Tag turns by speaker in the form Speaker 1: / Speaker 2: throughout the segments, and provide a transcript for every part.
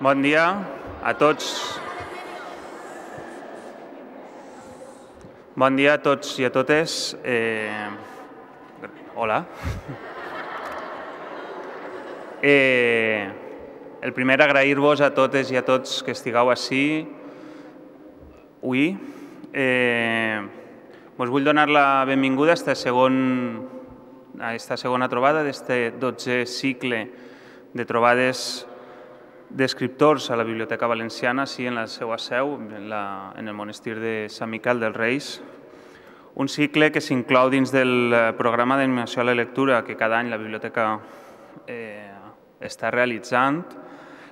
Speaker 1: Bon dia a tots. Bon dia a tots i a totes. Hola. El primer, agrair-vos a totes i a tots que estigueu ací avui. Us vull donar la benvinguda a aquesta segona trobada d'este 12è cicle de trobades d'escriptors a la Biblioteca Valenciana, sí, en la seva seu, en el monestir de Sant Miquel dels Reis. Un cicle que s'inclou dins del programa d'animació a la lectura que cada any la Biblioteca està realitzant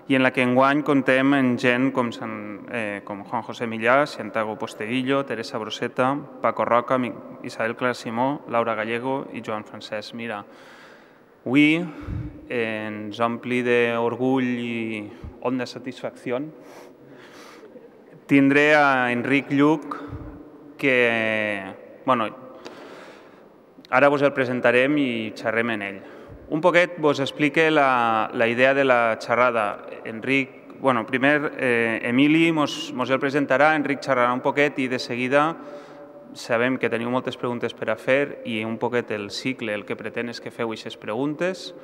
Speaker 1: i en la que enguany contem amb gent com Juan José Millà, Santiago Posteguillo, Teresa Broseta, Paco Roca, Isabel Clara Simó, Laura Gallego i Joan Francesc Mira. Avui ens ompli d'orgull i honda satisfacció tindré a Enric Lluch, que ara vos el presentarem i xerrem en ell. Un poquet vos explique la idea de la xerrada. Enric, primer Emili mos el presentarà, Enric xerrarà un poquet i de seguida sabem que teniu moltes preguntes per a fer i un poquet el cicle el que pretén és que feu aquestes preguntes.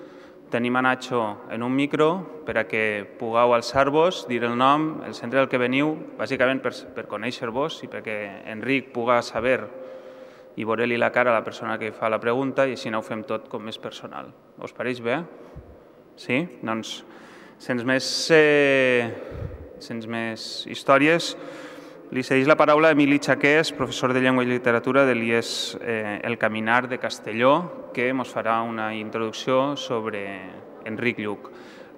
Speaker 1: Tenim a Nacho en un micro per a que pugueu alçar-vos, dir el nom, el centre del que veniu, bàsicament per conèixer-vos i perquè Enric pugui saber i veure-li la cara a la persona que fa la pregunta i així ho fem tot com més personal. Us pareix bé? Sí? Doncs, sense més històries, li cedeix la paraula a Emili Chaqués, professor de Llengua i Literatura de l'IES El Caminar de Castelló, que ens farà una introducció sobre Enric Lluch.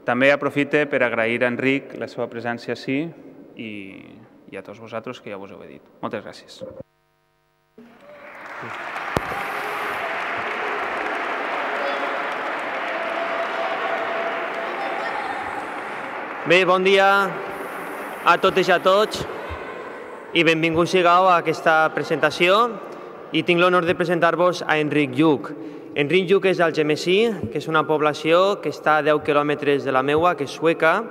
Speaker 1: També aprofite per agrair a Enric la seva presència ací i a tots vosaltres que ja vos ho he dit. Moltes gràcies.
Speaker 2: Bé, bon dia a totes i a tots i benvinguts sigueu a aquesta presentació i tinc l'honor de presentar-vos a Enric Lluch. Enric Lluch és d'Algemesí, que és una població que està a 10 quilòmetres de la meua, que és Sueca,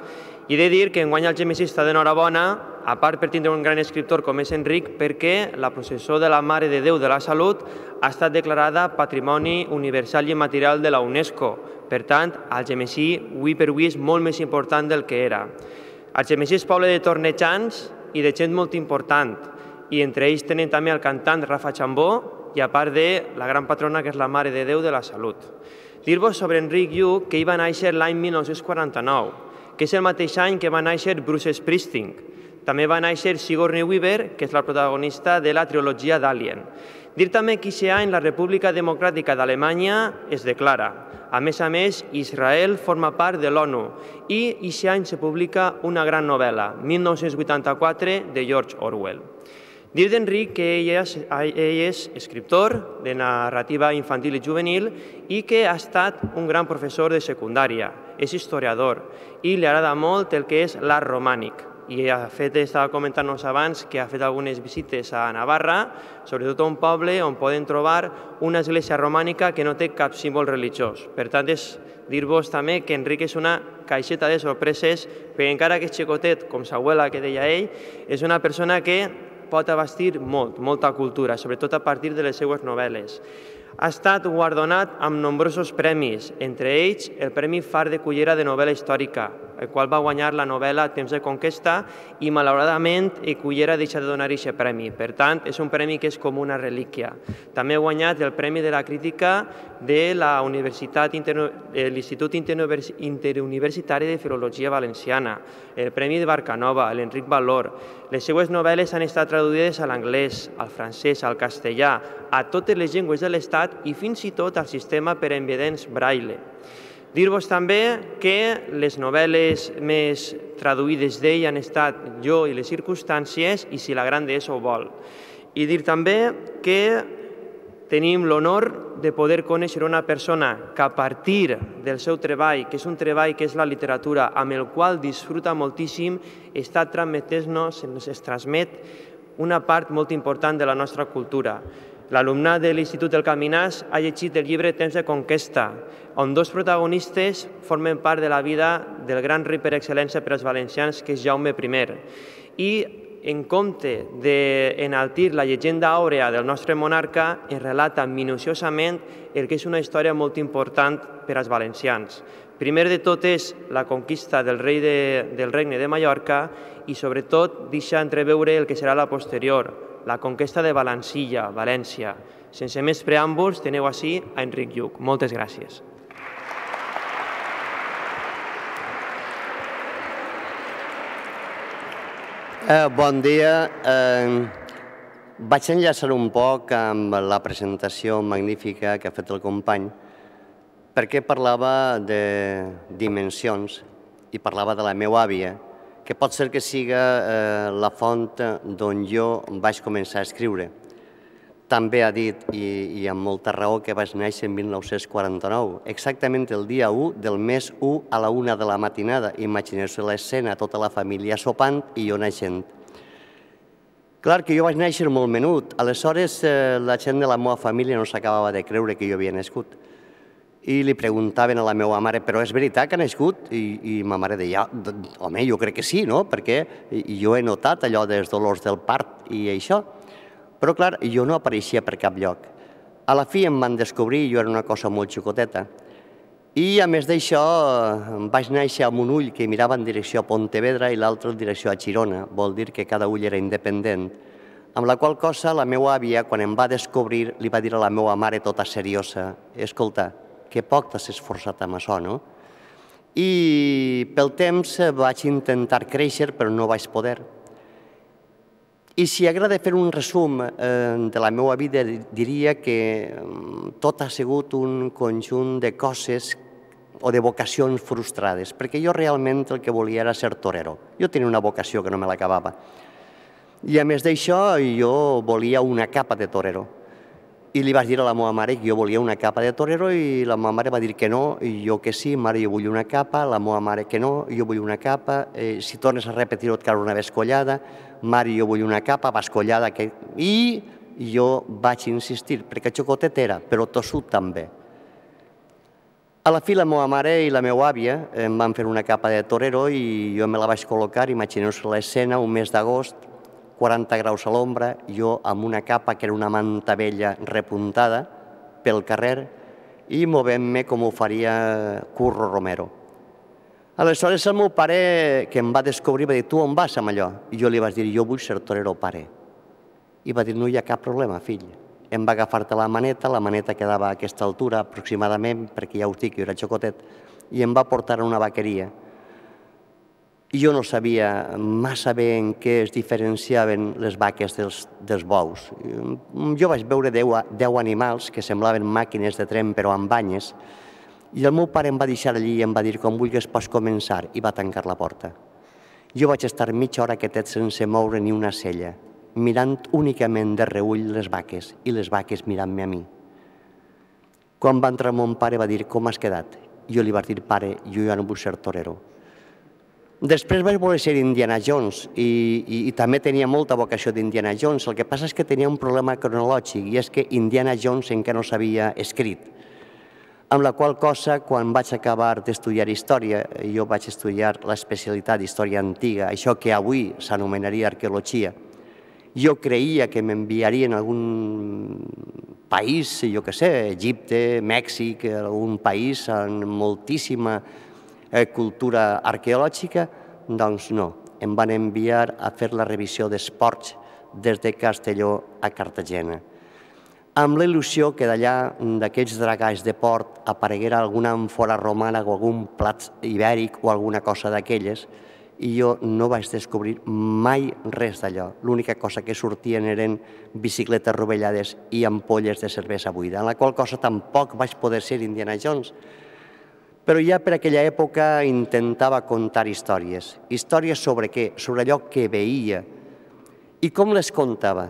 Speaker 2: i he de dir que enguany Algemesí està d'enhorabona, a part per tindre un gran escriptor com és Enric, perquè la processó de la Mare de Déu de la Salut ha estat declarada Patrimoni Universal i Immaterial de la UNESCO. Per tant, Algemesí, avui per avui, és molt més important del que era. Algemesí és poble de tornejants i de gent molt important, i entre ells tenen també el cantant Rafa Chambó i a part de la gran patrona que és la Mare de Déu de la Salut. Dir-vos sobre Enric Lluch que ell va néixer l'any 1949, que és el mateix any que va néixer Bruce Springsteen. També va néixer Sigourney Weaver, que és la protagonista de la trilogia d'Alien. Dir també que aquest any la República Democràtica d'Alemanya es declara. A més, Israel forma part de l'ONU i aquest any se publica una gran novel·la, 1984, de George Orwell. Dir d'Enric que ell és escriptor de narrativa infantil i juvenil i que ha estat un gran professor de secundària, és historiador i li agrada molt el que és l'art romànic. I estava comentant-nos abans que ha fet algunes visites a Navarra, sobretot a un poble on poden trobar una església romànica que no té cap símbol religiós. Per tant, és dir-vos també que Enric és una caixeta de sorpreses, perquè encara que és xicotet, com s'abuela que deia ell, és una persona que pot abastir molta cultura, sobretot a partir de les seues novel·les. Ha estat guardonat amb nombrosos premis, entre ells el Premi Far de Cullera de novel·la històrica, el qual va guanyar la novel·la Temps de conquesta i, malauradament, Cullera ha deixat de donar aquest premi. Per tant, és un premi que és com una relíquia. També ha guanyat el Premi de la Crítica de l'Institut Interuniversitari de Filologia Valenciana, el Premi de Barcanova, l'Enric Valor. Les seues novel·les han estat traduïdes a l'anglès, al francès, al castellà, a totes les llengües de l'Estat i fins i tot al sistema per a envedents Braille. Dir-vos també que les novel·les més traduïdes d'ell han estat Jo i les circumstàncies i Si la gran deessa ho vol. I dir també que tenim l'honor de poder conèixer una persona que a partir del seu treball, que és un treball que és la literatura, amb el qual disfruta moltíssim, es transmet una part molt important de la nostra cultura. L'alumnat de l'Institut del Caminàs ha llegit el llibre Temps de conquesta, on dos protagonistes formen part de la vida del gran rei per excel·lència per als valencians, que és Jaume I. I, en compte d'enaltir la llegenda àurea del nostre monarca, ens relata minuciosament el que és una història molt important per als valencians. Primer de tot és la conquista del regne de Mallorca i, sobretot, deixa entreveure el que serà la posterior, la conquesta de Valancilla, València. Sense més preàmbuls, teniu ací a Enric Lluch. Moltes gràcies.
Speaker 3: Bon dia. Vaig enllaçar un poc amb la presentació magnífica que ha fet el company, perquè parlava de dimensions i parlava de la meva àvia, que pot ser que siga la font d'on jo vaig començar a escriure. També ha dit, i amb molta raó, que vaig néixer en 1949, exactament el dia 1 del mes 1 a la 1 de la matinada. Imagineu-se l'escena, tota la família sopant i jo naixent. Clar que jo vaig néixer molt menut, aleshores la gent de la meva família no s'acabava de creure que jo havia nascut. I li preguntaven a la meva mare, però és veritat que ha nascut? I ma mare deia, home, jo crec que sí, no? Perquè jo he notat allò dels dolors del part i això. Però, clar, jo no apareixia per cap lloc. A la fi em van descobrir, jo era una cosa molt xicoteta. I, a més d'això, vaig néixer amb un ull que mirava en direcció a Pontevedra i l'altre en direcció a Girona. Vol dir que cada ull era independent. Amb la qual cosa, la meva àvia, quan em va descobrir, li va dir a la meva mare tota seriosa, escolta, que poc t'has esforçat amb això, no? I pel temps vaig intentar créixer, però no vaig poder. I si hagués de fer un resum de la meva vida, diria que tot ha sigut un conjunt de coses o de vocacions frustrades, perquè jo realment el que volia era ser torero. Jo tenia una vocació que no me l'acabava. I a més d'això, jo volia una capa de torero. I li vaig dir a la meva mare que jo volia una capa de torero i la meva mare va dir que no, i jo que sí, mare, jo vull una capa, la meva mare que no, jo vull una capa, si tornes a repetir-ho et cau una bescollada, mare, jo vull una capa, bescollada, i jo vaig insistir, perquè xocotet era, però tossut també. A la fi, la meva mare i la meva àvia em van fer una capa de torero i jo me la vaig col·locar, imagineu-vos l'escena, un mes d'agost, 40 graus a l'ombra, jo amb una capa que era una manta vella repuntada pel carrer i movent-me com ho faria Curro Romero. Aleshores el meu pare, que em va descobrir, va dir, tu on vas amb allò? I jo li vaig dir, jo vull ser torero, pare. I va dir, no hi ha cap problema, fill. Em va agafar-te la maneta quedava a aquesta altura aproximadament, perquè ja us dic, jo era xocotet, i em va portar a una vaqueria. I jo no sabia massa bé en què es diferenciaven les vaques dels bous. Jo vaig veure 10 animals que semblaven màquines de tren però amb banyes i el meu pare em va deixar allí i em va dir com vulguis pots començar i va tancar la porta. Jo vaig estar mitja hora quietet sense moure ni una cella, mirant únicament de reull les vaques i les vaques mirant-me a mi. Quan va entrar mon pare va dir com has quedat? Jo li vaig dir pare, jo ja no vull ser torero. Després vaig voler ser Indiana Jones i també tenia molta vocació d'Indiana Jones. El que passa és que tenia un problema cronològic i és que Indiana Jones encara no s'havia escrit. Amb la qual cosa, quan vaig acabar d'estudiar història, jo vaig estudiar l'especialitat d'història antiga, això que avui s'anomenaria arqueologia. Jo creia que m'enviarien a algun país, jo què sé, Egipte, Mèxic, algun país amb moltíssima cultura arqueològica, doncs no. Em van enviar a fer la revisió d'esports des de Castelló a Cartagena. Amb la il·lusió que d'allà, d'aquests dragalls de port, apareguera alguna àmfora romana o algun plat ibèric o alguna cosa d'aquelles, i jo no vaig descobrir mai res d'allò. L'única cosa que sortien eren bicicletes rovellades i ampolles de cervesa buida, en la qual cosa tampoc vaig poder ser Indiana Jones. Però ja per aquella època intentava contar històries. Històries sobre què? Sobre allò que veia. I com les contava?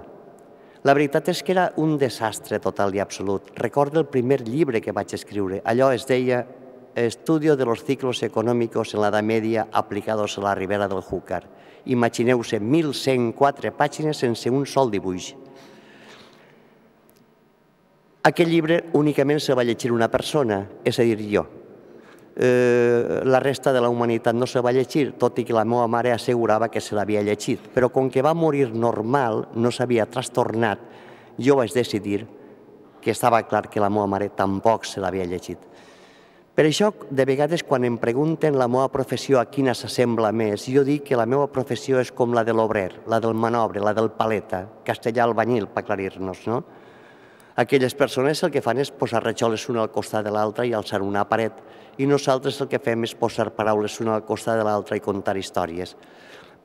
Speaker 3: La veritat és que era un desastre total i absolut. Recordo el primer llibre que vaig escriure. Allò es deia Estudio de los ciclos económicos en la Edad Media aplicados a la Ribera del Júcar. Imagineu-se 1.104 pàgines sense un sol dibuix. Aquest llibre únicament se va llegir una persona, és a dir, jo. La resta de la humanitat no se va llegir, tot i que la meva mare assegurava que se l'havia llegit. Però com que va morir normal, no s'havia trastornat, jo vaig decidir que estava clar que la meva mare tampoc se l'havia llegit. Per això, de vegades, quan em pregunten la meva professió a quina s'assembla més, jo dic que la meva professió és com la de l'obrer, la del manobre, la del paleta, castellà albanyil, per aclarir-nos, no? Aquelles persones el que fan és posar rajoles una al costat de l'altra i alçar una paret, i nosaltres el que fem és posar paraules una al costat de l'altra i contar històries.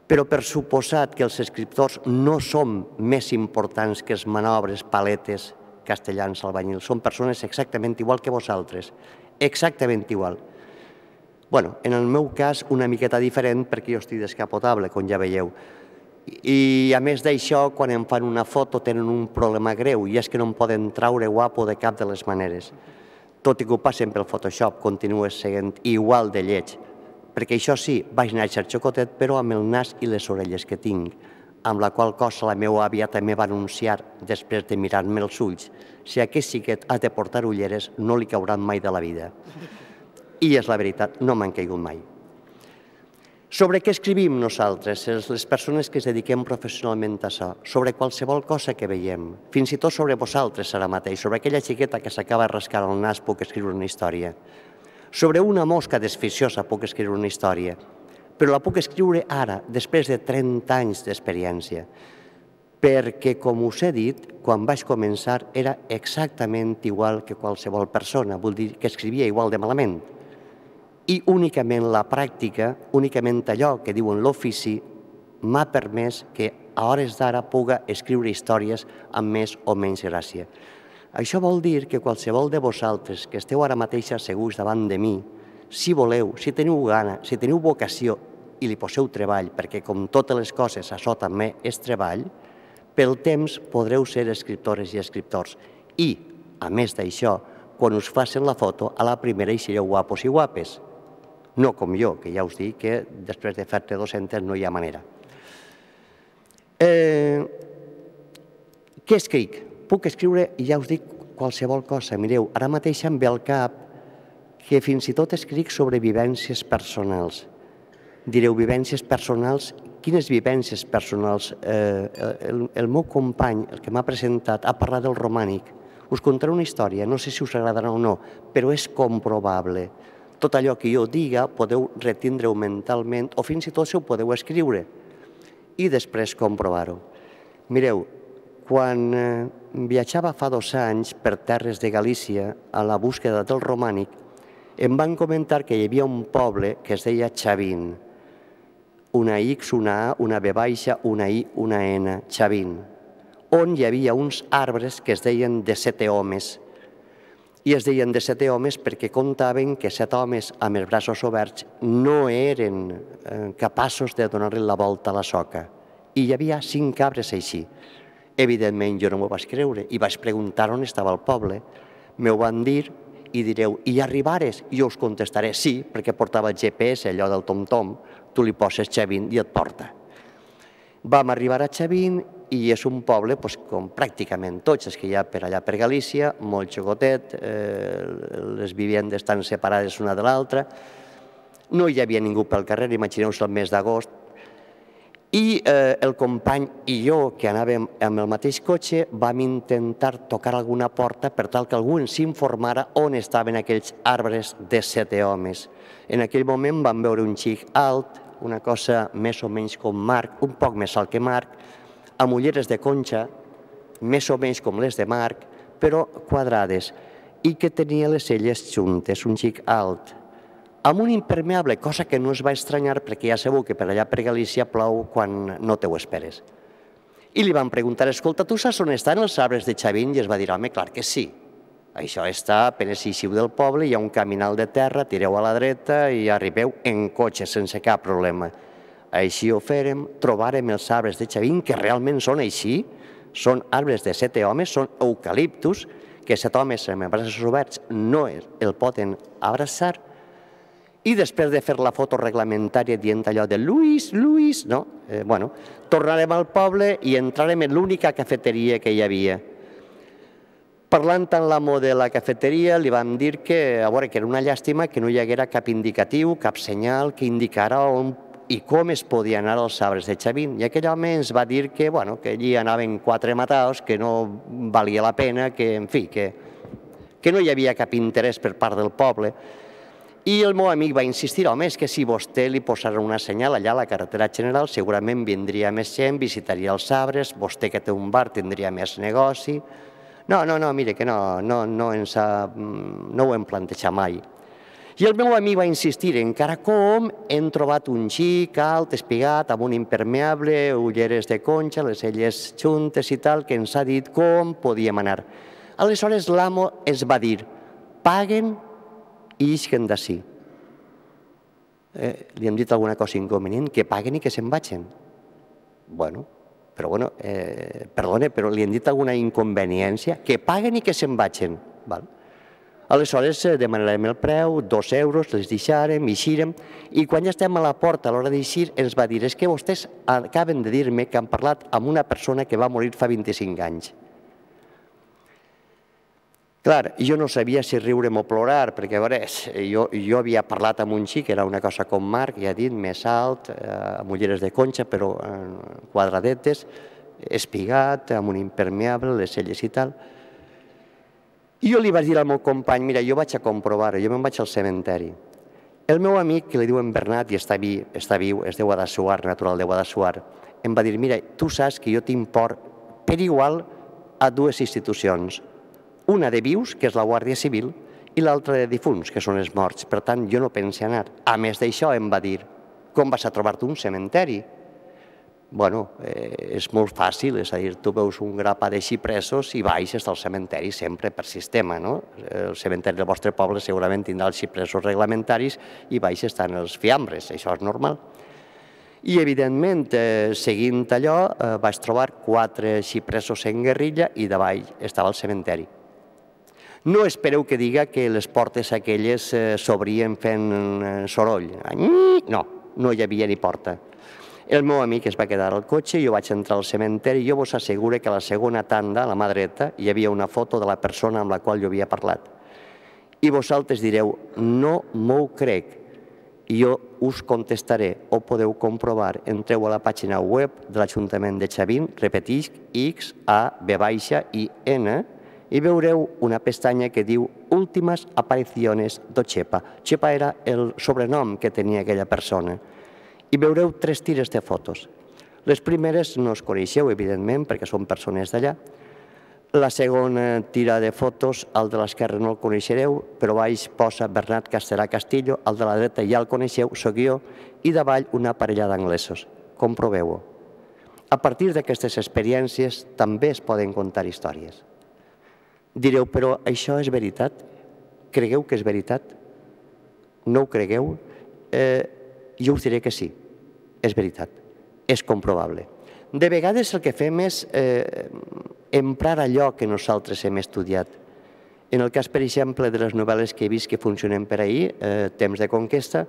Speaker 3: Però per suposat que els escriptors no som més importants que els manobres, paletes, castellans, albanyils, són persones exactament igual que vosaltres, exactament igual. Bé, en el meu cas una miqueta diferent perquè jo estic descapotable, com ja veieu. I a més d'això, quan em fan una foto tenen un problema greu i és que no em poden traure guapo de cap de les maneres. Tot i que ho passen pel Photoshop, continues seguint igual de lleig. Perquè això sí, vaig néixer xocotet, però amb el nas i les orelles que tinc, amb la qual cosa la meva àvia també va anunciar, després de mirar-me els ulls, si aquest xiquet ha de portar ulleres no li cauran mai de la vida. I és la veritat, no m'han caigut mai. Sobre què escrivim nosaltres, les persones que es dediquem professionalment a això? Sobre qualsevol cosa que veiem, fins i tot sobre vosaltres ara mateix, sobre aquella xiqueta que s'acaba de rascar el nas puc escriure una història. Sobre una mosca desficiosa puc escriure una història, però la puc escriure ara, després de 30 anys d'experiència, perquè, com us he dit, quan vaig començar era exactament igual que qualsevol persona, vull dir que escrivia igual de malament. I únicament la pràctica, únicament allò que diuen l'ofici, m'ha permès que a hores d'ara puga escriure històries amb més o menys gràcia. Això vol dir que qualsevol de vosaltres que esteu ara mateix asseguts davant de mi, si voleu, si teniu gana, si teniu vocació i li poseu treball, perquè com totes les coses això també és treball, pel temps podreu ser escriptores i escriptors. I, a més d'això, quan us facin la foto, a la primera hi sereu guapos i guapes. No com jo, que ja us dic que després de fer-te 200 no hi ha manera. Què escric? Puc escriure, i ja us dic, qualsevol cosa. Mireu, ara mateix em ve al cap que fins i tot escric sobre vivències personals. Direu, vivències personals? Quines vivències personals? El meu company, el que m'ha presentat, ha parlat del romànic. Us contaré una història, no sé si us agradarà o no, però és comprovable. Tot allò que jo diga podeu retindre-ho mentalment o fins i tot ho podeu escriure i després comprovar-ho. Mireu, quan viatjava fa 2 anys per terres de Galícia a la búsqueda del romànic, em van comentar que hi havia un poble que es deia Chavín. Una X, una A, una B baixa, una I, una N, Chavín, on hi havia uns arbres que es deien de 7 homes. I es deien de 7 homes perquè contaven que 7 homes amb els braços oberts no eren capaços de donar-li la volta a la soca. I hi havia 5 cabres així. Evidentment jo no m'ho vaig creure i vaig preguntar on estava el poble. M'ho van dir i direu, i arribares? I jo us contestaré sí, perquè portava el GPS, allò del tom-tom, tu li poses Chavín i et porta. Vam arribar a Chavín i és un poble, com pràcticament tots els que hi ha per allà per Galícia, molt xocotet, les vivendes estan separades una de l'altra, no hi havia ningú pel carrer, imagineu-vos el mes d'agost, i el company i jo, que anàvem amb el mateix cotxe, vam intentar tocar alguna porta per tal que algú ens informara on estaven aquells arbres de 7 homes. En aquell moment vam veure un xic alt, una cosa més o menys com Marc, un poc més alt que Marc, amb ulleres de conxa, més o menys com les de Marc, però quadrades, i que tenia les celles juntes, un xic alt, amb un impermeable, cosa que no es va estranyar perquè ja sabeu que per allà per Galícia plou quan no te ho esperes. I li van preguntar, escolta, tu saps on estan els arbres de Chavín? I es va dir, home, clar que sí. Això està, apenas eixiu del poble, hi ha un caminal de terra, tireu a la dreta i arribeu en cotxe sense cap problema. Així ho fèrem, trobarem els arbres de Chavín, que realment són així, són arbres de 7 homes, són eucaliptus, que 7 homes amb els braços oberts no el poden abraçar, i després de fer la foto reglamentària dient allò de Luis, Luis, no? Tornarem al poble i entrarem en l'única cafeteria que hi havia. Parlant amb l'amo de la cafeteria, li vam dir que, a veure, que era una llàstima que no hi haguera cap indicatiu, cap senyal que indicara on i com es podia anar als arbres de Xavín. I aquell home ens va dir que, bueno, que allí anaven 4 mataos, que no valia la pena, que, en fi, que no hi havia cap interès per part del poble. I el meu amic va insistir, home, és que si vostè li posara una senyal allà a la carretera general, segurament vindria més gent, visitaria els arbres, vostè que té un bar tindria més negoci. No, mire, que no ho hem plantejat mai. I el meu amic va insistir, encara com hem trobat un xic alt, espigat, amb un impermeable, ulleres de conxa, les celles juntes i tal, que ens ha dit com podíem anar. Aleshores l'amo es va dir, paguen i isquen d'ací. Li hem dit alguna cosa inconvenient, que paguen i que se'n vagin. Bueno, perdone, però li hem dit alguna inconveniència, que paguen i que se'n vagin. Aleshores demanarem el preu, 2 euros, les deixarem, eixirem, i quan ja estem a la porta a l'hora d'eixir ens va dir, és que vostès acaben de dir-me que han parlat amb una persona que va morir fa 25 anys. Clar, jo no sabia si riure'm o plorar, perquè a veure, jo havia parlat amb un xic, que era una cosa com Marc, ja he dit, més alt, amb ulleres de conxa, però quadradetes, espigat, amb un impermeable, les celles i tal. I jo li vaig dir al meu company, mira, jo vaig a comprovar-ho, jo me'n vaig al cementeri. El meu amic, que li diuen Bernat i està viu, és de Guadassuar, natural de Guadassuar, em va dir, mira, tu saps que jo tinc por per igual a 2 institucions. Una de vius, que és la Guàrdia Civil, i l'altra de difunts, que són els morts. Per tant, jo no penso anar. A més d'això, em va dir, com vas a trobar-te un cementeri? Bueno, és molt fàcil, és a dir, tu veus un grapat de xipresos i baixes al cementeri sempre per sistema, no? El cementeri del vostre poble segurament tindrà els xipresos reglamentaris i baixes estan els fiambres, això és normal. I, evidentment, seguint allò, vaig trobar 4 xipresos en guerrilla i davall estava el cementeri. No espereu que diga que les portes aquelles s'obrien fent soroll. No, no hi havia ni porta. El meu amic es va quedar al cotxe, jo vaig entrar al cementeri i jo vos asseguro que a la segona tanda, a la mà dreta, hi havia una foto de la persona amb la qual jo havia parlat. I vosaltres direu, no m'ho crec. Jo us contestaré, o podeu comprovar, entreu a la pàgina web de l'Ajuntament de Xavín, repetisc, XAB-IN, i veureu una pestanya que diu Últimas apariciones do Chepa. Chepa era el sobrenom que tenia aquella persona. I veureu 3 tires de fotos. Les primeres no es coneixeu, evidentment, perquè són persones d'allà. La segona tira de fotos, el de l'esquerra no el coneixereu, però baix posa Bernat Castellà Castillo, el de la dreta ja el coneixeu, soc jo, i davall una parella d'anglesos. Comproveu-ho. A partir d'aquestes experiències també es poden contar històries. Direu, però això és veritat? Cregueu que és veritat? No ho cregueu? Jo us diré que sí. És veritat, és comprovable. De vegades el que fem és emprar allò que nosaltres hem estudiat. En el cas, per exemple, de les novel·les que he vist que funcionen per ahir, Temps de conquesta,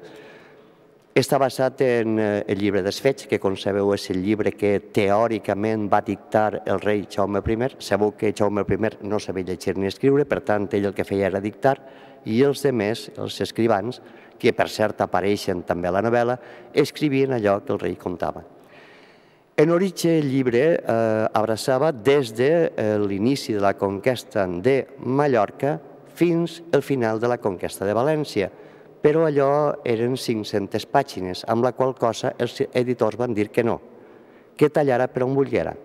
Speaker 3: està basat en el llibre d'Esfeig, que com sabeu és el llibre que teòricament va dictar el rei Jaume I. Sabeu que Jaume I no sabia llegir ni escriure, per tant ell el que feia era dictar, i els altres, els escrivans, que per cert apareixen també a la novel·la, escrivien allò que el rei contava. En origen el llibre abraçava des de l'inici de la conquesta de Mallorca fins al final de la conquesta de València, però allò eren 500 pàgines, amb la qual cosa els editors van dir que no, que tallara per on volguera.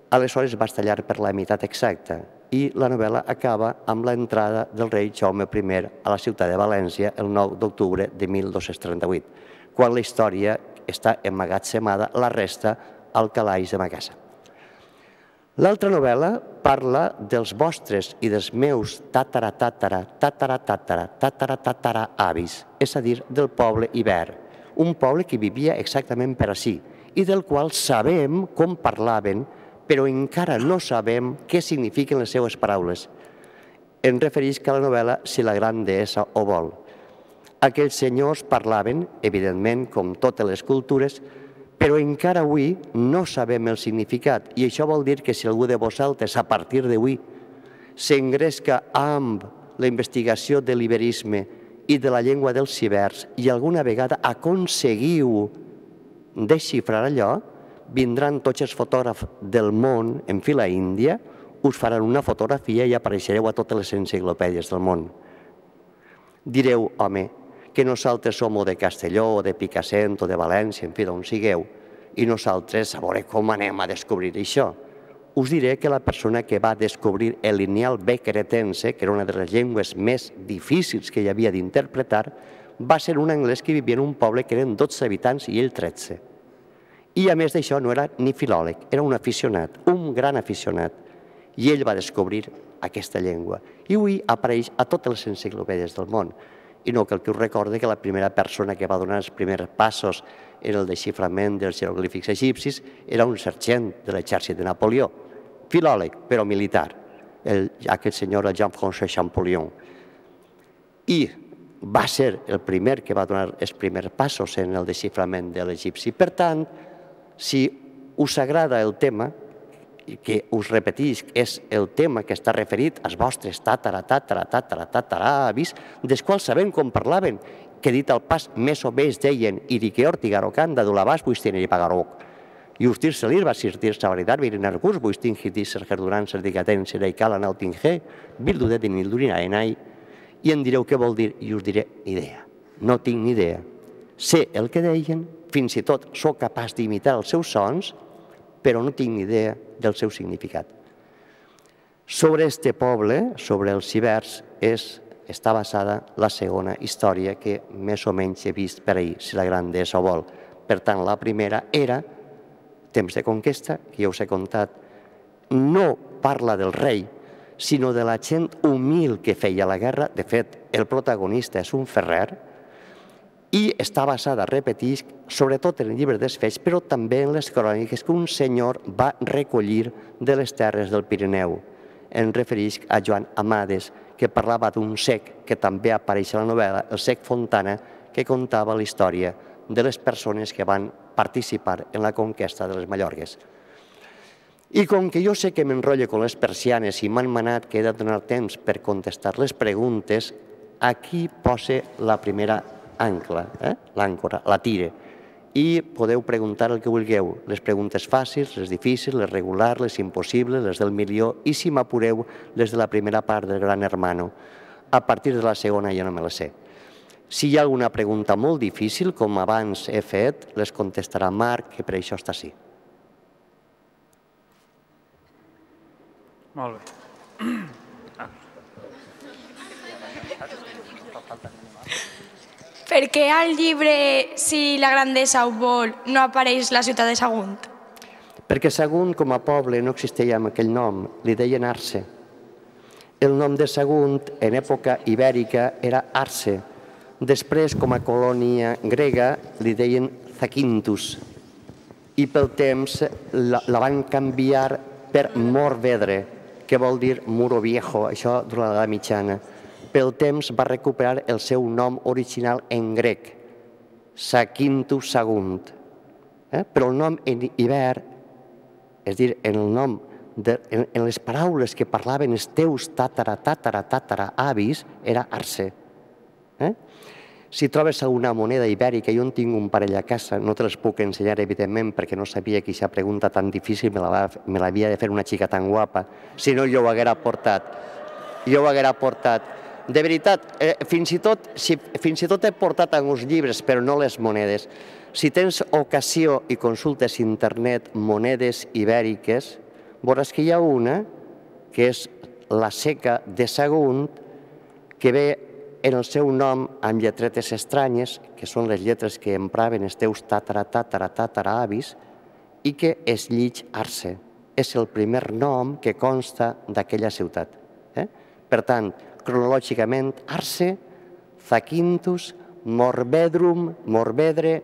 Speaker 3: Aleshores vas tallar per la meitat exacta i la novel·la acaba amb l'entrada del rei Jaume I a la ciutat de València el 9 d'octubre de 1238, quan la història està emmagatzemada, la resta al calaix de ma casa. L'altra novel·la parla dels vostres i dels meus tatara-tatara-tatara-tatara-tatara-avis, és a dir, del poble Iber, un poble que vivia exactament per ací i del qual sabem com parlaven, però encara no sabem què signifiquen les seues paraules. Em referisc a la novel·la Si la gran deessa ho vol. Aquells senyors parlaven, evidentment, com totes les cultures, però encara avui no sabem el significat, i això vol dir que si algú de vosaltres, a partir d'avui, s'engresca amb la investigació de l'iberisme i de la llengua dels cibers i alguna vegada aconseguiu desxifrar allò, vindran tots els fotògrafs del món en fila índia, us faran una fotografia i apareixereu a totes les enciclopèdies del món. Direu, home, que nosaltres som o de Castelló, o de Picassent, o de València, en fi, d'on sigueu, i nosaltres a veure com anem a descobrir això. Us diré que la persona que va descobrir el lineal B cretense, que era una de les llengües més difícils que hi havia d'interpretar, va ser un anglès que vivia en un poble que eren 12 habitants i ell 13. I a més d'això no era ni filòleg, era un aficionat, un gran aficionat. I ell va descobrir aquesta llengua. I avui apareix a totes les enciclopèdies del món. I no cal que us recorde que la primera persona que va donar els primers passos en el desxiframent dels jeroglífics egipcis era un sergent de l'exèrcit de Napoleó, filòleg, però militar, aquest senyor Jean-François Champollion. I va ser el primer que va donar els primers passos en el desxiframent de l'egipci. Per tant, si us agrada el tema, que us repetisc, és el tema que està referit als vostres tataravis, dels quals sabem com parlaven, que dit al pas més o menys deien «Irique ortigarocanda d'ulabàs buistiner i pagaroc». I ustir selir va sirtir savaritat virinar curs buistin hitis sergerduran serdicaten sereicala nautingé bildudet de nildurinaenai. I em direu què vol dir i us diré idea. No tinc ni idea. Sé el que deien, fins i tot sóc capaç d'imitar els seus sons, però no tinc ni idea del seu significat. Sobre este poble, sobre els cibers, està basada la segona història que més o menys he vist per ahir, si la grandesa ho vol. Per tant, la primera era Temps de conquesta, que ja us he contat. No parla del rei, sinó de la gent humil que feia la guerra. De fet, el protagonista és un ferrer, i està basada, repetisc, sobretot en el llibre dels Fets, però també en les cròniques que un senyor va recollir de les terres del Pirineu. Em referisc a Joan Amades, que parlava d'un cec que també apareix a la novel·la, el cec Fontana, que contava la història de les persones que van participar en la conquesta de les Mallorques. I com que jo sé que m'enrotllo amb les persianes i m'han manat que he de donar temps per contestar les preguntes, aquí posa la primera ancla, l'àncora, la tire, i podeu preguntar el que vulgueu, les preguntes fàcils, les difícils, les regulars, les impossibles, les del milió, i si m'apureu, les de la primera part del Gran Hermano. A partir de la segona ja no me la sé. Si hi ha alguna pregunta molt difícil, com abans he fet, les contestarà Marc, que per això està així.
Speaker 1: Molt bé.
Speaker 4: Per què al llibre Si la grandesa ho vol no apareix la ciutat de Sagunt?
Speaker 3: Perquè Sagunt, com a poble, no existia amb aquell nom, li deien Arce. El nom de Sagunt, en època ibèrica, era Arce. Després, com a colònia grega, li deien Zakynthus. I pel temps la van canviar per Morvedre, que vol dir muro viejo, això durant l'edat mitjana. Pel temps va recuperar el seu nom original en grec, Zakynthus Sagunt. Però el nom en iber, és a dir, en les paraules que parlaven els teus tatara-avis, era Arce. Si trobes alguna moneda ibèrica, jo en tinc un parell a casa, no te les puc ensenyar, evidentment, perquè no sabia que aquesta pregunta tan difícil me l'havia de fer una xica tan guapa, si no jo ho haguera portat. De veritat, fins i tot he portat alguns llibres, però no les monedes. Si tens ocasió i consultes internet monedes ibèriques, veuràs que hi ha una, que és la seca de Sagunt, que ve en el seu nom amb lletretes estranyes, que són les lletres que empraven els teus tatara-avis, i que es llig Arce. És el primer nom que consta d'aquella ciutat. Per tant, cronològicament, Arce, Zakynthus, Morvedre,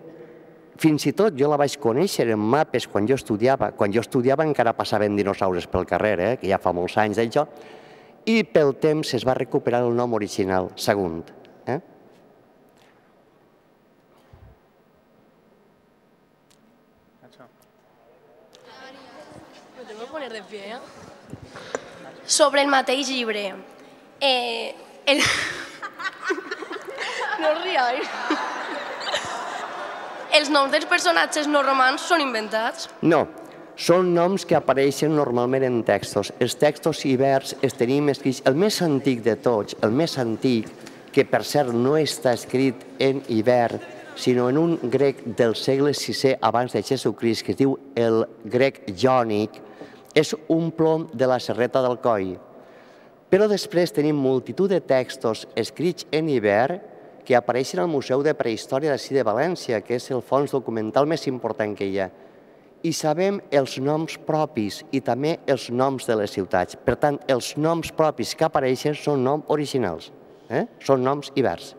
Speaker 3: fins i tot jo la vaig conèixer en mapes quan jo estudiava. Quan jo estudiava encara passaven dinosaures pel carrer, que ja fa molts anys d'això, i pel temps es va recuperar el nom original, Sagunt.
Speaker 5: ¿Me tengo que poner de pie, Sobre el mateix llibre. No us rieu. Els noms dels personatges no romans són inventats?
Speaker 3: No, són noms que apareixen normalment en textos. Els textos ibers els tenim escrits, el més antic de tots, el més antic, que per cert no està escrit en iber, sinó en un grec del segle VI abans de Jesucrist, que es diu el grec jònic, és un plom de la Serreta del Coll. Però després tenim multitud de textos escrits en iber que apareixen al Museu de Prehistòria d'ací de València, que és el fons documental més important que hi ha. I sabem els noms propis i també els noms de les ciutats. Per tant, els noms propis que apareixen són noms originals, són noms ibers.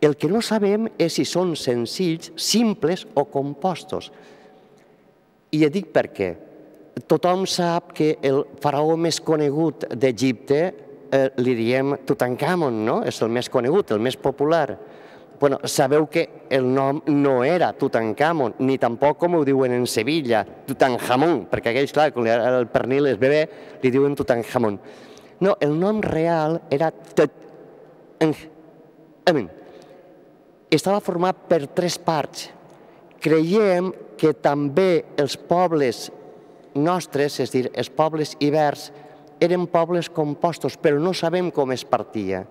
Speaker 3: El que no sabem és si són senzills, simples o compostos. I et dic per què. Tothom sap que el faraó més conegut d'Egipte li diem Tutankamon, no? És el més conegut, el més popular. Bueno, sabeu que el nom no era Tutankamon, ni tampoc com ho diuen en Sevilla, Tutankamon, perquè aquells, clar, quan el pernil és bebè, li diuen Tutankamon. No, el nom real era Tutankhamun. Estava format per 3 parts. Creiem que també els pobles nostres, és a dir, els pobles ibers, eren pobles compostos, però no sabem com es partia.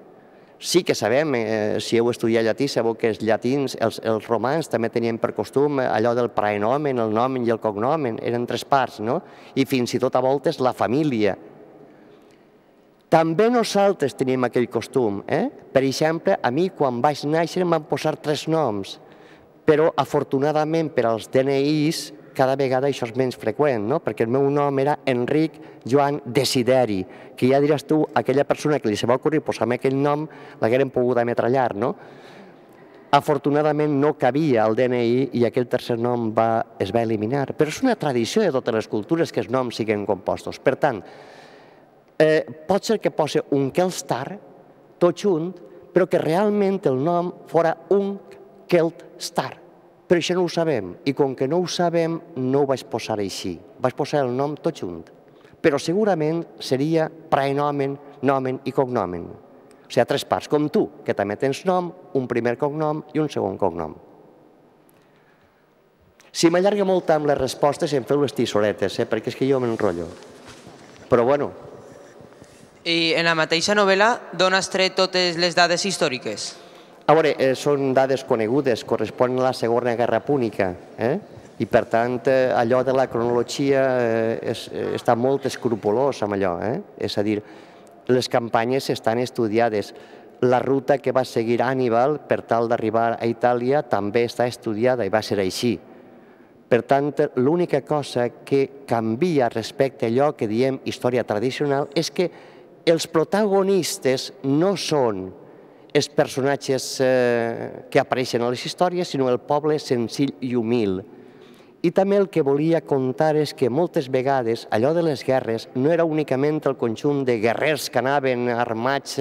Speaker 3: Sí que sabem, si heu estudiat llatí, sabeu que els llatins, els romans també tenien per costum allò del praenomen, el nomen i el cognomen, eren 3 parts, no? I fins i tot a voltes la família. També nosaltres tenim aquell costum. Per exemple, a mi quan vaig néixer em van posar 3 noms, però afortunadament per als DNIs cada vegada això és menys freqüent, no? Perquè el meu nom era Enric Joan Desideri, que ja diràs tu, aquella persona que li se va ocorrir posar-me aquell nom l'hagueren pogut ametrallar, no? Afortunadament no cabia al DNI i aquell tercer nom es va eliminar, però és una tradició de totes les cultures que els noms siguin compostos. Per tant, pot ser que posi un Kelstar, tot junt, però que realment el nom fora un Keltstar. Però això no ho sabem, i com que no ho sabem, no ho vaig posar així. Vaig posar el nom tot junt. Però segurament seria praenomen, nomen i cognomen. O sigui, 3 parts, com tu, que també tens nom, un primer cognom i un segon cognom. Si m'allarga molt amb les respostes, em feu les tissoretes, perquè és que jo m'enrotllo. Però bueno.
Speaker 6: I en la mateixa novel·la d'on has tret totes les dades històriques?
Speaker 3: A veure, són dades conegudes, corresponen a la Segona Guerra Púnica, i per tant allò de la cronologia està molt escrupolós amb allò, és a dir, les campanyes estan estudiades, la ruta que va seguir Hannibal per tal d'arribar a Itàlia també està estudiada i va ser així. Per tant, l'única cosa que canvia respecte a allò que diem història tradicional és que els protagonistes no són els personatges que apareixen a les històries, sinó el poble senzill i humil. I també el que volia contar és que moltes vegades allò de les guerres no era únicament el conjunt de guerrers que anaven armats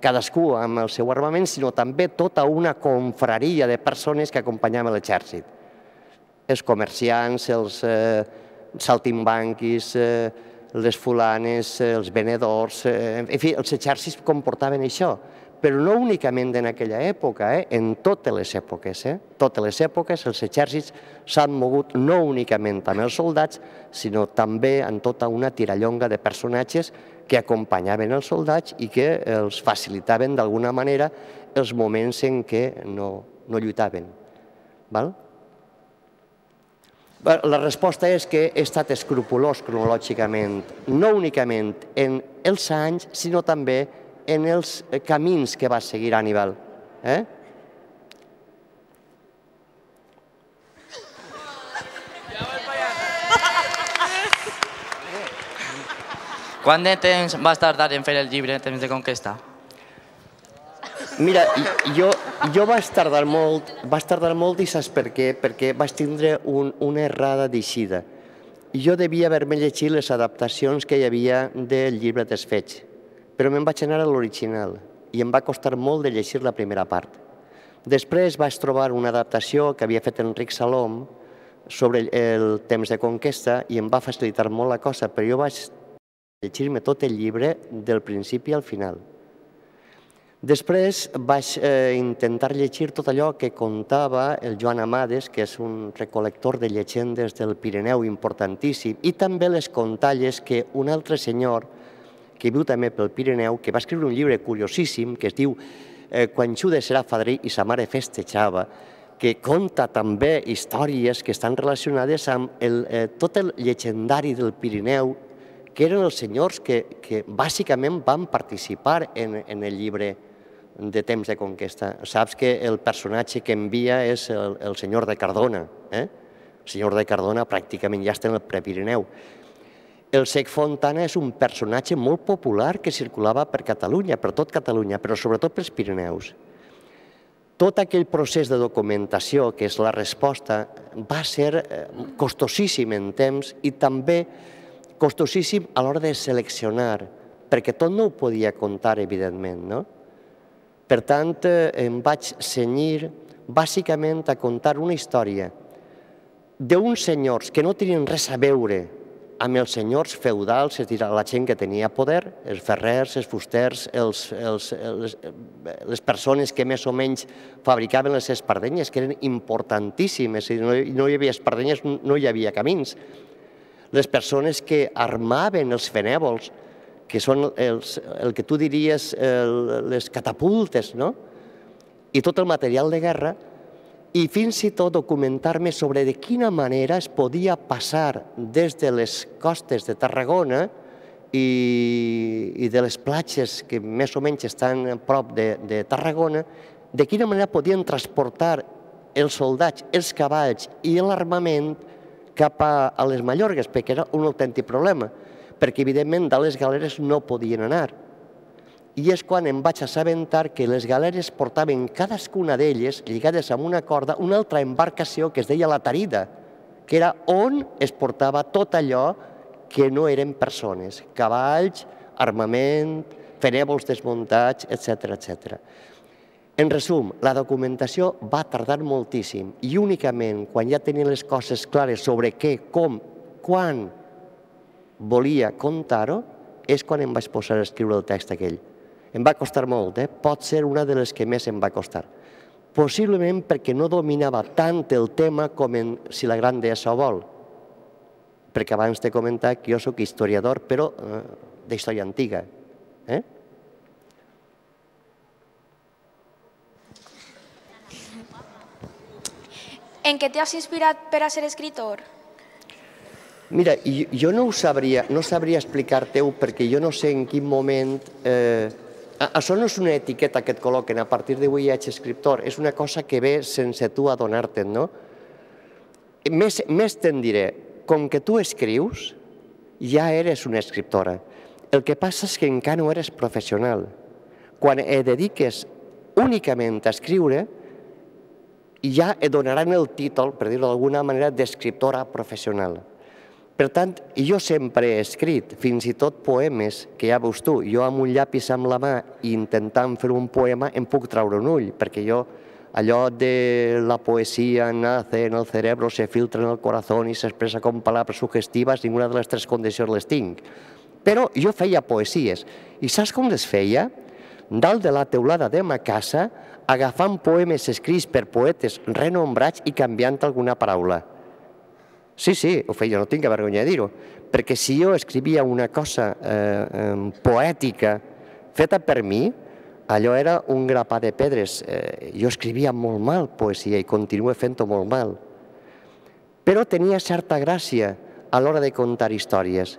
Speaker 3: cadascú amb el seu armament, sinó també tota una confraria de persones que acompanyaven l'exèrcit. Els comerciants, els saltimbanquis, les fulanes, els venedors, en fi, els exèrcits comportaven això. Però no únicament en aquella època, en totes les èpoques. Totes les èpoques els exèrcits s'han mogut no únicament amb els soldats, sinó també en tota una tirallonga de personatges que acompanyaven els soldats i que els facilitaven d'alguna manera els moments en què no lluitaven. La resposta és que he estat escrupolós cronològicament, no únicament en els anys, sinó també en els camins que va seguir Hannibal.
Speaker 7: Quant de temps vas tardar en fer el llibre Temps de conquesta?
Speaker 3: Mira, jo vaig tardar molt i saps per què? Perquè vaig tindre una errada d'eixida. Jo devia haver-me llegit les adaptacions que hi havia del llibre dels fets, però me'n vaig anar a l'original i em va costar molt de llegir la primera part. Després vaig trobar una adaptació que havia fet Enric Salom sobre el Temps de conquesta i em va facilitar molt la cosa, però jo vaig llegir-me tot el llibre del principi al final. Després vaig intentar llegir tot allò que contava el Joan Amades, que és un recol·lector de llegendes del Pirineu importantíssim, i també les contalles que un altre senyor, que viu també pel Pirineu, que va escriure un llibre curiosíssim que es diu Quan Judes era fadrí i sa mare festejava, que conta també històries que estan relacionades amb tot el llegendari del Pirineu, que eren els senyors que bàsicament van participar en el llibre de Temps de Conquesta. Saps que el personatge que envia és el senyor de Cardona. El senyor de Cardona pràcticament ja està en el Prepirineu. El Cec Fontana és un personatge molt popular que circulava per Catalunya, per tot Catalunya, però sobretot pels Pirineus. Tot aquell procés de documentació, que és la resposta, va ser costosíssim en temps i també costosíssim a l'hora de seleccionar, perquè tot no ho podia contar, evidentment, no? Per tant, em vaig cenyir bàsicament a contar una història d'uns senyors que no tenien res a veure amb els senyors feudals, és a dir, la gent que tenia poder, els ferrers, els fusters, les persones que més o menys fabricaven les espardenyes, que eren importantíssimes, no hi havia espardenyes, no hi havia camins. Les persones que armaven els fenèvols, que són el que tu diries les catapultes, no? I tot el material de guerra, i fins i tot documentar-me sobre de quina manera es podia passar des de les costes de Tarragona i de les platges que més o menys estan a prop de Tarragona, de quina manera podien transportar els soldats, els cavalls i l'armament cap a les Mallorques, perquè era un autèntic problema, perquè evidentment de les galeres no podien anar. I és quan em vaig assabentar que les galeres portaven cadascuna d'elles, lligades amb una corda, una altra embarcació que es deia la tarida, que era on es portava tot allò que no eren persones, cavalls, armament, fenèvols desmuntats, etc. En resum, la documentació va tardar moltíssim i únicament quan ja tenia les coses clares sobre què, com, quan volia contar-ho, és quan em vaig posar a escriure el text aquell. Em va costar molt, pot ser una de les que més em va costar. Possiblement perquè no dominava tant el tema com en Si la gran deessa ho vol. Perquè abans t'he comentat que jo soc historiador, però d'història antiga.
Speaker 4: En què t'has inspirat per a ser escritor?
Speaker 3: Mira, jo no sabria explicar-te-ho perquè jo no sé en quin moment... Això no és una etiqueta que et col·loquen, a partir d'avui ja ets escriptor, és una cosa que ve sense tu adonar-te'n, no? Més te'n diré, com que tu escrius, ja eres una escriptora. El que passa és que encara no eres professional. Quan et dediques únicament a escriure, ja et donaran el títol, per dir-ho d'alguna manera, d'escriptora professional. Per tant, jo sempre he escrit, fins i tot poemes, que ja veus tu, jo amb un llapis amb la mà i intentant fer un poema em puc traure un ull, perquè jo, allò de la poesia nace en el cerebro, se filtra en el corazón i s'expressa com palabras sugestivas, ninguna de les tres condicions les tinc. Però jo feia poesies, i saps com les feia? Dalt de la teulada de ma casa, agafant poemes escrits per poetes renombrats i canviant alguna paraula. Sí, ho feia, no tinc vergonya de dir-ho, perquè si jo escrivia una cosa poètica feta per mi, allò era un grapà de pedres. Jo escrivia molt mal poesia i continuo fent-ho molt mal. Però tenia certa gràcia a l'hora de contar històries.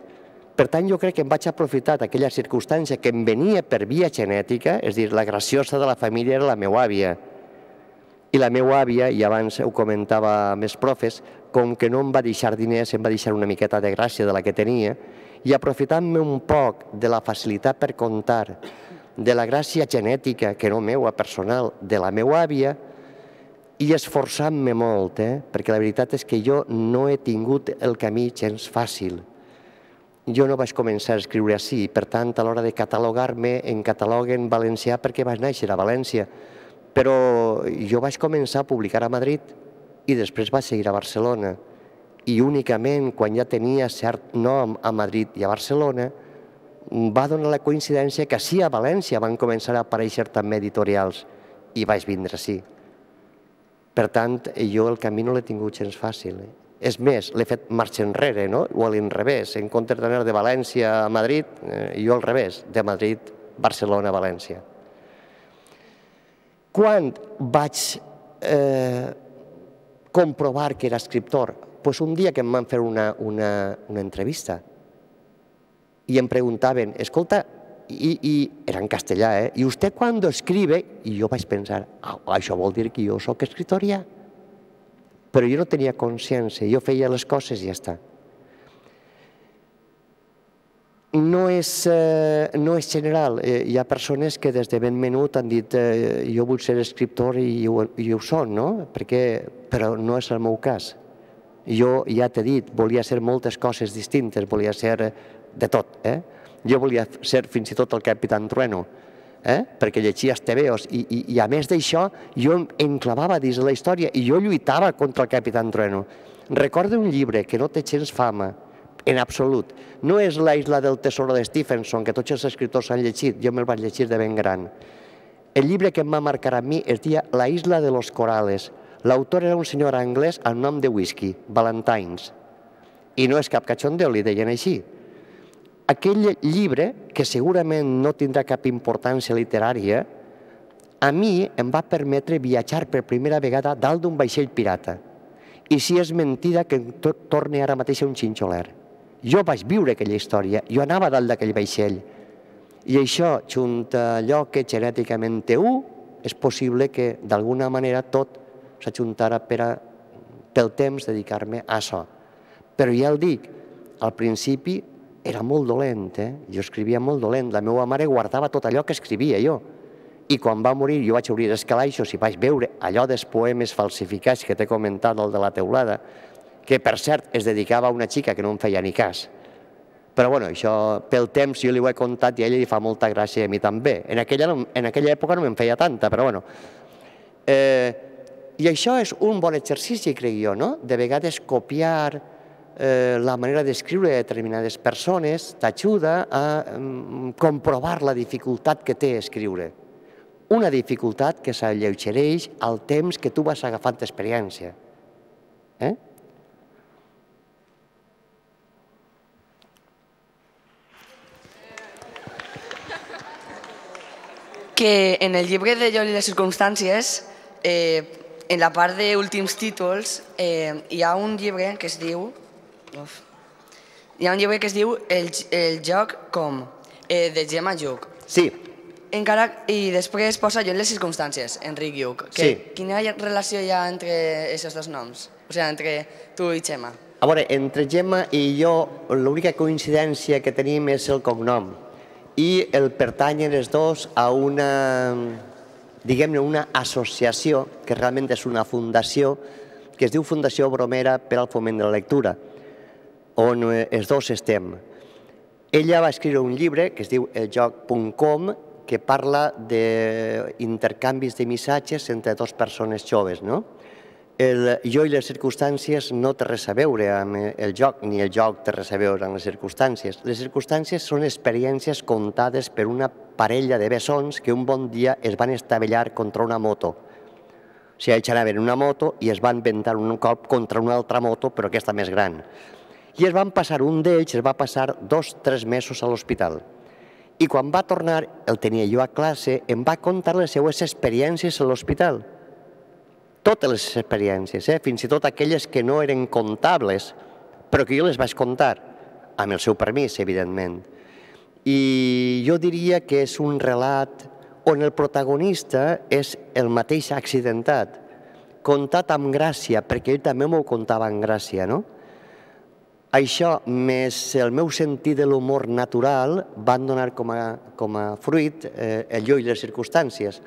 Speaker 3: Per tant, jo crec que em vaig aprofitar d'aquella circumstància que em venia per via genètica, és a dir, la graciosa de la família era la meva àvia. I la meva àvia, i abans ho comentava amb els profes, com que no em va deixar diners, em va deixar una miqueta de gràcia de la que tenia, i aprofitant-me un poc de la facilitat per contar, de la gràcia genètica, que no meua, personal, de la meva àvia, i esforçant-me molt, perquè la veritat és que jo no he tingut el camí gens fàcil. Jo no vaig començar a escriure així, per tant, a l'hora de catalogar-me, em cataloguen valencià perquè vaig néixer a València, però jo vaig començar a publicar a Madrid i després vaig seguir a Barcelona. I únicament quan ja tenia cert nom a Madrid i a Barcelona va donar la coincidència que sí, a València van començar a aparèixer també editorials i vaig vindre així. Per tant, jo el camí no l'he tingut gens fàcil. És més, l'he fet marxa enrere, o a l'inrevés. En comptes d'anar de València a Madrid, jo al revés, de Madrid, Barcelona, València. Quan vaig comprovar que era escriptor? Doncs un dia que em van fer una entrevista i em preguntaven, escolta, i era en castellà, i vostè quan escribe? I jo vaig pensar, això vol dir que jo soc escriptor ja? Però jo no tenia consciència, jo feia les coses i ja està. No és general, hi ha persones que des de ben menut han dit jo vull ser escriptor i ho són, però no és el meu cas. Jo ja t'he dit, volia ser moltes coses distintes, volia ser de tot. Jo volia ser fins i tot el Capitán Trueno, perquè llegia els tebeos i a més d'això jo em enclavava dins de la història i jo lluitava contra el Capitán Trueno. Recordo un llibre que no té gens fama, en absolut. No és La isla del tesoro de Stephenson, que tots els escriptors han llegit, jo me'l vaig llegir de ben gran. El llibre que em va marcar a mi es deia La isla de los corales. L'autor era un senyor anglès amb nom de whisky, Ballantines. I no és cap cachondeo, li deien així. Aquell llibre, que segurament no tindrà cap importància literària, a mi em va permetre viatjar per primera vegada dalt d'un vaixell pirata. I si és mentida que torni ara mateix a un xinxoler. Jo vaig viure aquella història, jo anava dalt d'aquell vaixell. I això, junt a allò que genèticament té és possible que d'alguna manera tot s'ajuntara pel temps dedicar-me a això. Però ja el dic, al principi era molt dolent, jo escrivia molt dolent, la meva mare guardava tot allò que escrivia jo. I quan va morir jo vaig obrir els calaixos i vaig veure allò dels poemes falsificats que t'he comentat, el de la teulada, que per cert es dedicava a una xica que no em feia ni cas. Però bueno, això pel temps jo li ho he contat i a ella li fa molta gràcia i a mi també. En aquella època no me'n feia tanta, però bueno. I això és un bon exercici, crec jo, no? De vegades copiar la manera d'escriure de determinades persones t'ajuda a comprovar la dificultat que té escriure. Una dificultat que s'alleugereix al temps que tu vas agafant experiència.
Speaker 8: Que en el llibre de Jo i les circumstàncies, en la part d'últims títols, hi ha un llibre que es diu El joc com, de Gemma Lluch.
Speaker 3: Sí.
Speaker 8: I després posa Jo i les circumstàncies, Enric Lluch. Quina relació hi ha entre aquests dos noms? O sigui, entre tu i Gemma.
Speaker 3: A veure, entre Gemma i jo, l'única coincidència que tenim és el cognom. I el pertanyen els dos a una, diguem-ne, una associació, que realment és una fundació, que es diu Fundació Bromera per al Foment de la Lectura, on els dos estem. Ella va escriure un llibre que es diu eljoc.com, que parla d'intercanvis de missatges entre dues persones joves, no? El jo i les circumstàncies no té res a veure amb el joc, ni el joc té res a veure amb les circumstàncies. Les circumstàncies són experiències contades per una parella de bessons que un bon dia es van estavellar contra una moto. O sigui, ells anaven en una moto i es van ventar un cop contra una altra moto, però aquesta més gran. I un d'ells es va passar 2 o 3 mesos a l'hospital. I quan va tornar, el tenia jo a classe, em va contar les seues experiències a l'hospital. Totes les experiències, fins i tot aquelles que no eren comptables, però que jo les vaig contar, amb el seu permís, evidentment. I jo diria que és un relat on el protagonista és el mateix accidentat, contat amb gràcia, perquè ell també m'ho contava amb gràcia, no? Això, més el meu sentit de l'humor natural, van donar com a fruit el jo i les circumstàncies,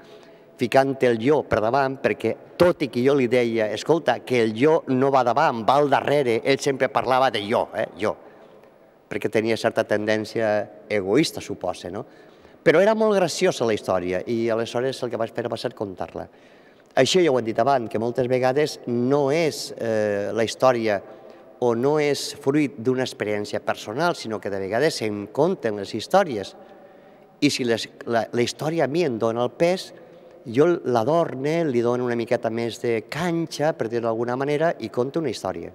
Speaker 3: ficant el jo per davant, perquè tot i que jo li deia, escolta, que el jo no va davant, va al darrere, ell sempre parlava de jo, perquè tenia certa tendència egoista, suposa, no? Però era molt graciosa la història i aleshores el que vaig fer va ser contar-la. Això ja ho he dit abans, que moltes vegades no és la història o no és fruit d'una experiència personal, sinó que de vegades se'n conten les històries. I si la història a mi em dona el pes, jo l'adorne, li dono una miqueta més de canxa, per dir-ho d'alguna manera, i conto una història.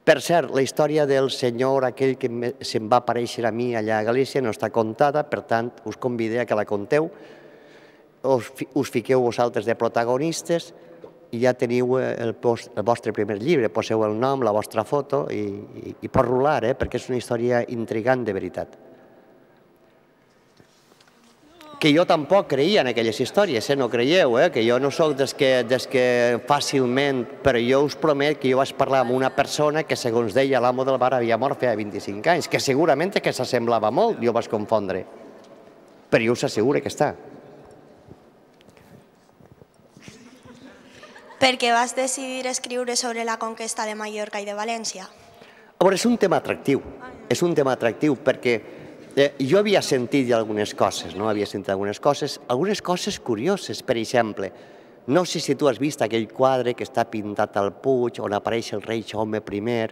Speaker 3: Per cert, la història del senyor aquell que se'm va aparèixer a mi allà a Galícia no està contada, per tant, us convido a que la conteu, us fiqueu vosaltres de protagonistes i ja teniu el vostre primer llibre, poseu el nom, la vostra foto i pot rolar, perquè és una història intrigant de veritat. Que jo tampoc creia en aquelles històries, no creieu, que jo no soc dels que fàcilment, però jo us promet que jo vaig parlar amb una persona que, segons deia l'amo del bar, havia mort feia 25 anys, que segurament que s'assemblava molt, jo vaig confondre, però jo us asseguro que està.
Speaker 9: Per què vas decidir escriure sobre la conquesta de Mallorca i de València?
Speaker 3: A veure, és un tema atractiu perquè jo havia sentit algunes coses, algunes coses curioses, per exemple, no sé si tu has vist aquell quadre que està pintat al Puig, on apareix el rei Jaume I,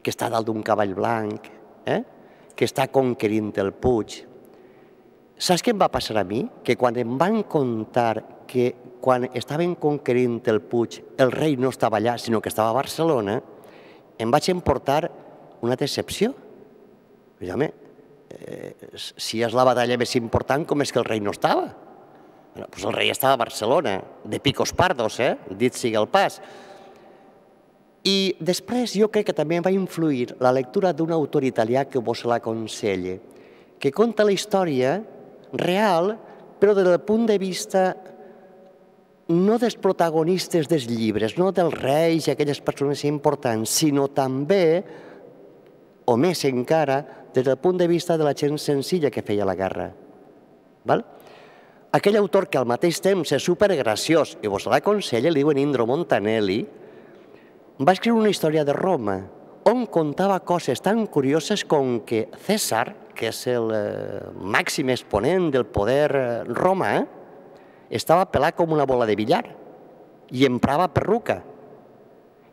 Speaker 3: que està dalt d'un cavall blanc, que està conquerint el Puig. Saps què em va passar a mi? Que quan em van contar que quan estaven conquerint el Puig el rei no estava allà, sinó que estava a Barcelona, em vaig emportar una decepció. Home, si és la batalla més important, com és que el rei no estava? Doncs el rei estava a Barcelona, de picos pardos, dit sigui el pas. I després jo crec que també va influir la lectura d'un autor italià que vos l'aconselle, que conta la història real, però des del punt de vista no dels protagonistes dels llibres, no dels reis i aquelles persones importants, sinó també, o més encara, des del punt de vista de la gent senzilla que feia la guerra. Aquell autor que al mateix temps és supergraciós, i vos l'aconsella, li diuen Indro Montanelli, va escriure una història de Roma, on contava coses tan curioses com que César, que és el màxim exponent del poder romà, estava pelat com una bola de billar i emprava perruca,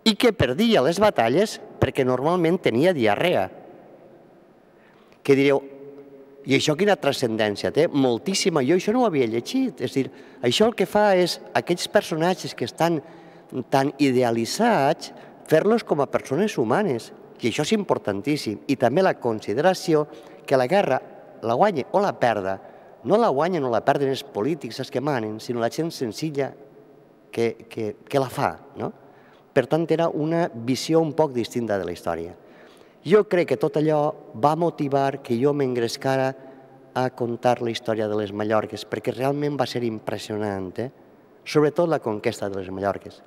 Speaker 3: i que perdia les batalles perquè normalment tenia diarrea. Que direu, i això quina transcendència té? Moltíssima, jo això no ho havia llegit. És a dir, això el que fa és aquells personatges que estan tan idealitzats, fer-los com a persones humanes, i això és importantíssim. I també la consideració que la guerra la guanya o la perda, no la guanyen o la perden els polítics, els que manen, sinó la gent senzilla que la fa. Per tant, era una visió un poc distinta de la història. Jo crec que tot allò va motivar que jo m'engrescara a contar la història de les Mallorques, perquè realment va ser impressionant, sobretot la conquesta de les Mallorques,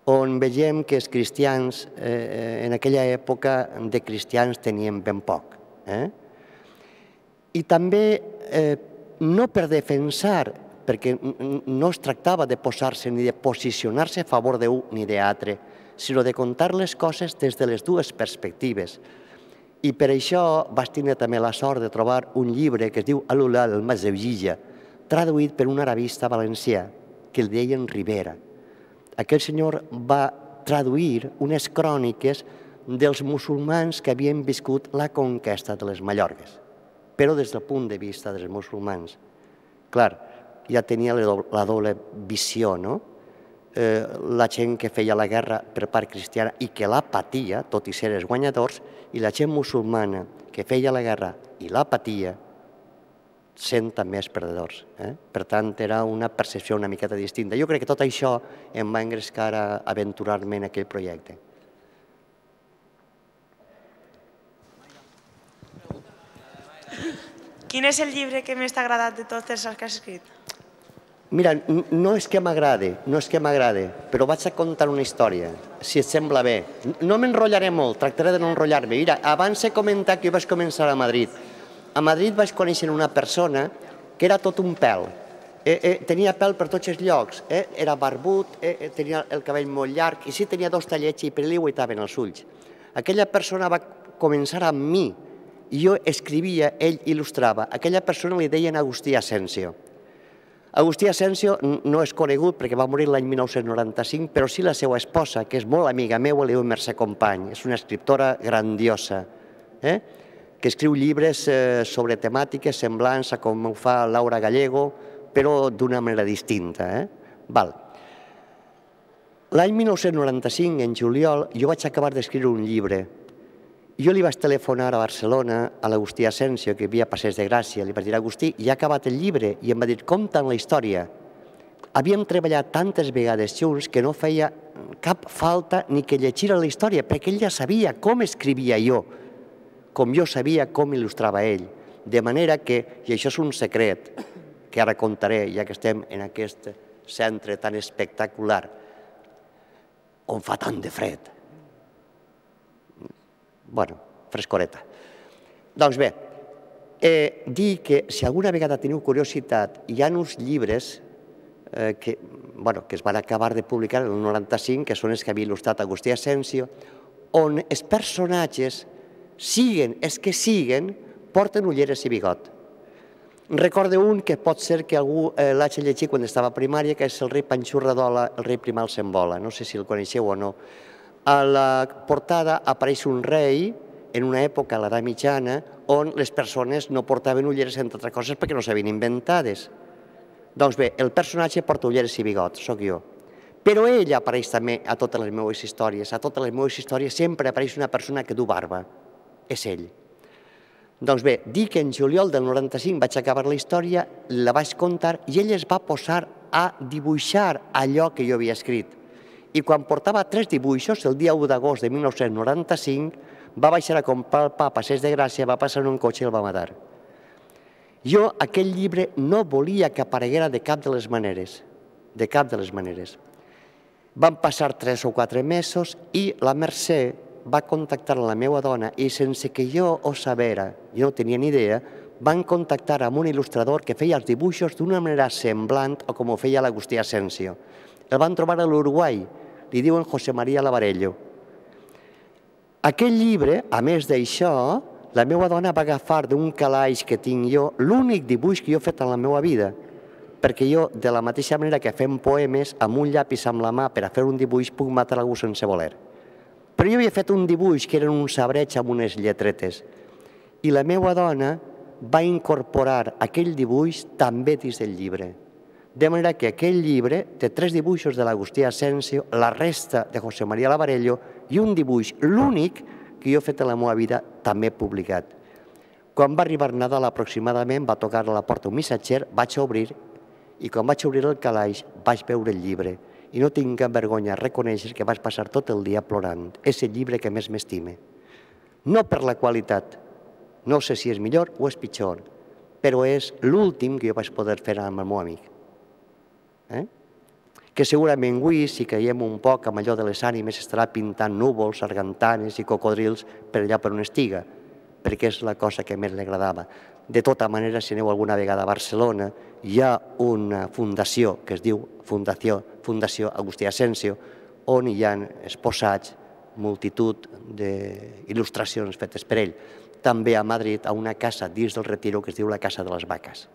Speaker 3: on veiem que els cristians, en aquella època de cristians tenien ben poc. I també, no per defensar, perquè no es tractava de posar-se ni de posicionar-se a favor d'un ni d'altre, sinó de contar les coses des de les dues perspectives. I per això vaig tenir també la sort de trobar un llibre que es diu Al-Ulal al-Mazevija, traduït per un arabista valencià, que el deien Rivera. Aquell senyor va traduir unes cròniques dels musulmans que havien viscut la conquesta de les Mallorques, però des del punt de vista dels musulmans. Clar, ja tenia la doble visió, no? La gent que feia la guerra per part cristiana i que la patia, tot i ser els guanyadors, i la gent musulmana que feia la guerra i la patia, sent també els perdedors. Per tant, era una percepció una miqueta distinta. Jo crec que tot això em va engrescar a aventurar-me en aquell projecte.
Speaker 10: Quin és el llibre que més t'ha agradat de tots els que has escrit?
Speaker 3: Mira, no és que m'agrade, però vaig a contar una història, si et sembla bé. No m'enrotllaré molt, tractaré de no enrotllar-me. Mira, abans he comentat que jo vaig començar a Madrid. A Madrid vaig conèixer una persona que era tot un pèl. Tenia pèl per tots els llocs, era barbut, tenia el cabell molt llarg, i sí tenia dos tallets i per li guaitaven els ulls. Aquella persona va començar amb mi, i jo escrivia, ell il·lustrava. Aquella persona li deien Agustí Asensio. Agustí Asensio no és conegut perquè va morir l'any 1995, però sí la seva esposa, que és molt amiga meva, li diu Mercè Company. És una escriptora grandiosa, que escriu llibres sobre temàtiques semblants a com ho fa Laura Gallego, però d'una manera distinta. L'any 1995, en juliol, jo vaig acabar d'escriure un llibre. Jo li vaig telefonar a Barcelona a l'Agustí Asensio, que vivia a Passeig de Gràcia. Li vaig dir, Agustí, ja ha acabat el llibre, i em va dir, com tant la història? Havíem treballat tantes vegades junts que no feia cap falta ni que llegira la història, perquè ell ja sabia com escrivia jo, com jo sabia com il·lustrava ell. De manera que, i això és un secret, que ara contaré, ja que estem en aquest centre tan espectacular, on fa tant de fred. Bueno, frescoreta. Doncs bé, dir que si alguna vegada teniu curiositat, hi ha uns llibres que es van acabar de publicar en el 95, que són els que havia il·lustrat Agustí Asensio, on els personatges, siguen els que siguen, porten ulleres i bigot. Recordo un que pot ser que algú l'hagi llegit quan estava a primària, que és el rei Panxurradola, el rei Primal Sembola. No sé si el coneixeu o no. A la portada apareix un rei en una època, a l'edat mitjana, on les persones no portaven ulleres, entre altres coses, perquè no s'havien inventades. Doncs bé, el personatge porta ulleres i bigot, sóc jo. Però ell apareix també a totes les meves històries. A totes les meves històries sempre apareix una persona que du barba. És ell. Doncs bé, dic que en juliol del 95 vaig acabar la història, la vaig contar i ell es va posar a dibuixar allò que jo havia escrit. I quan portava 3 dibuixos, el dia 1 d'agost de 1995, va baixar a comprar el pa a Passeig de Gràcia, va passar en un cotxe i el va matar. Jo aquell llibre no volia que apareguera de cap de les maneres. De cap de les maneres. Van passar 3 o 4 mesos i la Mercè va contactar la meva dona i sense que jo ho sabera, jo no tenia ni idea, van contactar amb un il·lustrador que feia els dibuixos d'una manera semblant a com ho feia l'Agustí Asensio. El van trobar a l'Uruguai, li diuen José María Lavarello. Aquell llibre, a més d'això, la meva dona va agafar d'un calaix que tinc jo l'únic dibuix que jo he fet en la meva vida, perquè jo, de la mateixa manera que fem poemes, amb un llapis amb la mà per a fer un dibuix puc matar algú sense voler. Però jo havia fet un dibuix que eren un sabreig amb unes lletretes i la meva dona va incorporar aquell dibuix també dins del llibre. De manera que aquell llibre té 3 dibuixos de l'Agustí Asensio, la resta de José María Lavarello i un dibuix, l'únic que jo he fet en la meva vida, també publicat. Quan va arribar Nadal aproximadament, va tocar a la porta un missatger, vaig obrir i quan vaig obrir el calaix vaig veure el llibre. I no tinc cap vergonya a reconèixer que vaig passar tot el dia plorant. És el llibre que més m'estime. No per la qualitat, no sé si és millor o és pitjor, però és l'últim que jo vaig poder fer amb el meu amic. Que segurament avui, si caiem un poc amb allò de les ànimes, estarà pintant núvols, sargantanes i cocodrils per allà per on estiga, perquè és la cosa que més li agradava. De tota manera, si aneu alguna vegada a Barcelona, hi ha una fundació que es diu Fundació Agustí Asensio, on hi ha exposats multitud d'il·lustracions fetes per ell. També a Madrid, a una casa dins del Retiro que es diu la Casa de les Vaques.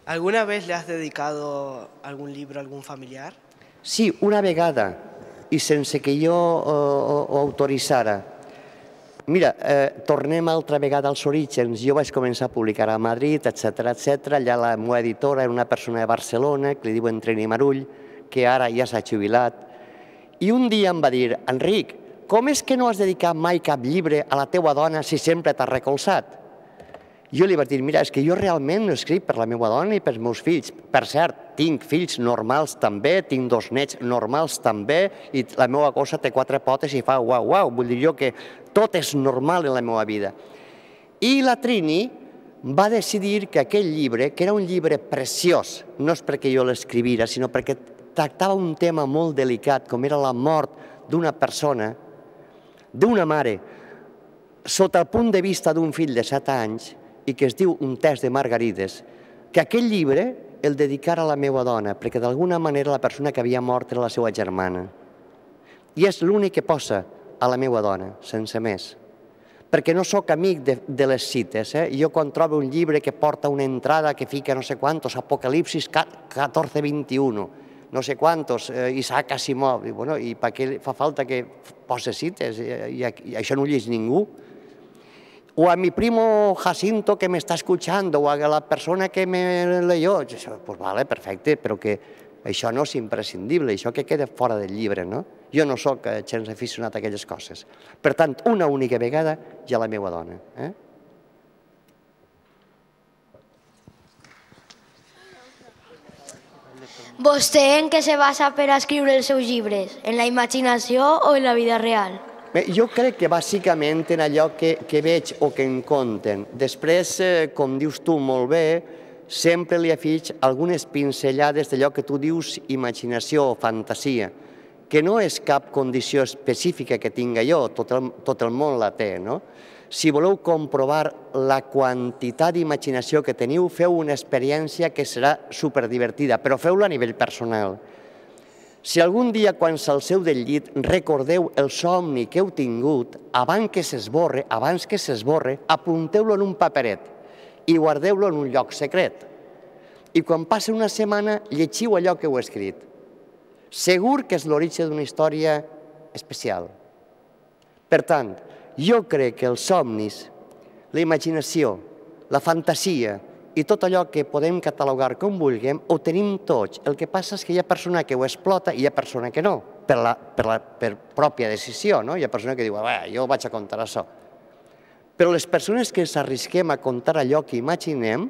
Speaker 11: ¿Alguna vez le has dedicado algún libro a algún familiar?
Speaker 3: Sí, una vegada, i sense que jo ho autoritzara. Mira, tornem altra vegada als orígens. Jo vaig començar a publicar a Madrid, etc. Allà la meva editora era una persona de Barcelona, que li diuen Trini Marull, que ara ja s'ha jubilat. I un dia em va dir, Enric, com és que no has dedicat mai cap llibre a la teua dona si sempre t'has recolzat? Jo li vaig dir, mira, és que jo realment no escric per la meva dona i pels meus fills. Per cert, tinc fills normals també, tinc 2 nets normals també, i la meva cosa té 4 potes i fa uau, uau. Vull dir jo que tot és normal en la meva vida. I la Trini va decidir que aquell llibre, que era un llibre preciós, no és perquè jo l'escrivira, sinó perquè tractava un tema molt delicat, com era la mort d'una persona, d'una mare, sota el punt de vista d'un fill de 7 anys, i que es diu Un test de margarides, que aquell llibre el dedicara a la meva dona, perquè d'alguna manera la persona que havia mort era la seva germana. I és l'únic que posa a la meva dona, sense més. perquè no sóc amic de les cites. Jo quan trobo un llibre que porta una entrada que fica no sé quantos, Apocalipsis 14:21, no sé quantos, Isaac Asimov, i per què fa falta que posa cites? I això no ho llegeix ningú. O a mi primo Jacinto que me está escuchando, o a la persona que me leyó, pues vale, perfecte, però que això no és imprescindible, això que queda fora del llibre, no? Jo no sóc gens aficionat a aquelles coses. Per tant, una única vegada ja la meva dona.
Speaker 12: Vostè en què se basa per escriure els seus llibres? En la imaginació o en la vida real?
Speaker 3: Jo crec que bàsicament en allò que veig o que em conten. Després, com dius tu molt bé, sempre li afig algunes pincellades d'allò que tu dius imaginació o fantasia, que no és cap condició específica que tinga jo, tot el món la té, no? Si voleu comprovar la quantitat d'imaginació que teniu, feu una experiència que serà superdivertida, però feu-la a nivell personal. Si algun dia, quan s'alceu del llit, recordeu el somni que heu tingut, abans que s'esborre, apunteu-lo en un paperet i guardeu-lo en un lloc secret. I quan passi una setmana, llegiu allò que heu escrit. Segur que és l'origen d'una història especial. Per tant, jo crec que els somnis, la imaginació, la fantasia i tot allò que podem catalogar com vulguem, ho tenim tots. El que passa és que hi ha persona que ho explota i hi ha persona que no, per pròpia decisió. Hi ha persona que diu, jo vaig a contar això. Però les persones que ens arrisquem a contar allò que imaginem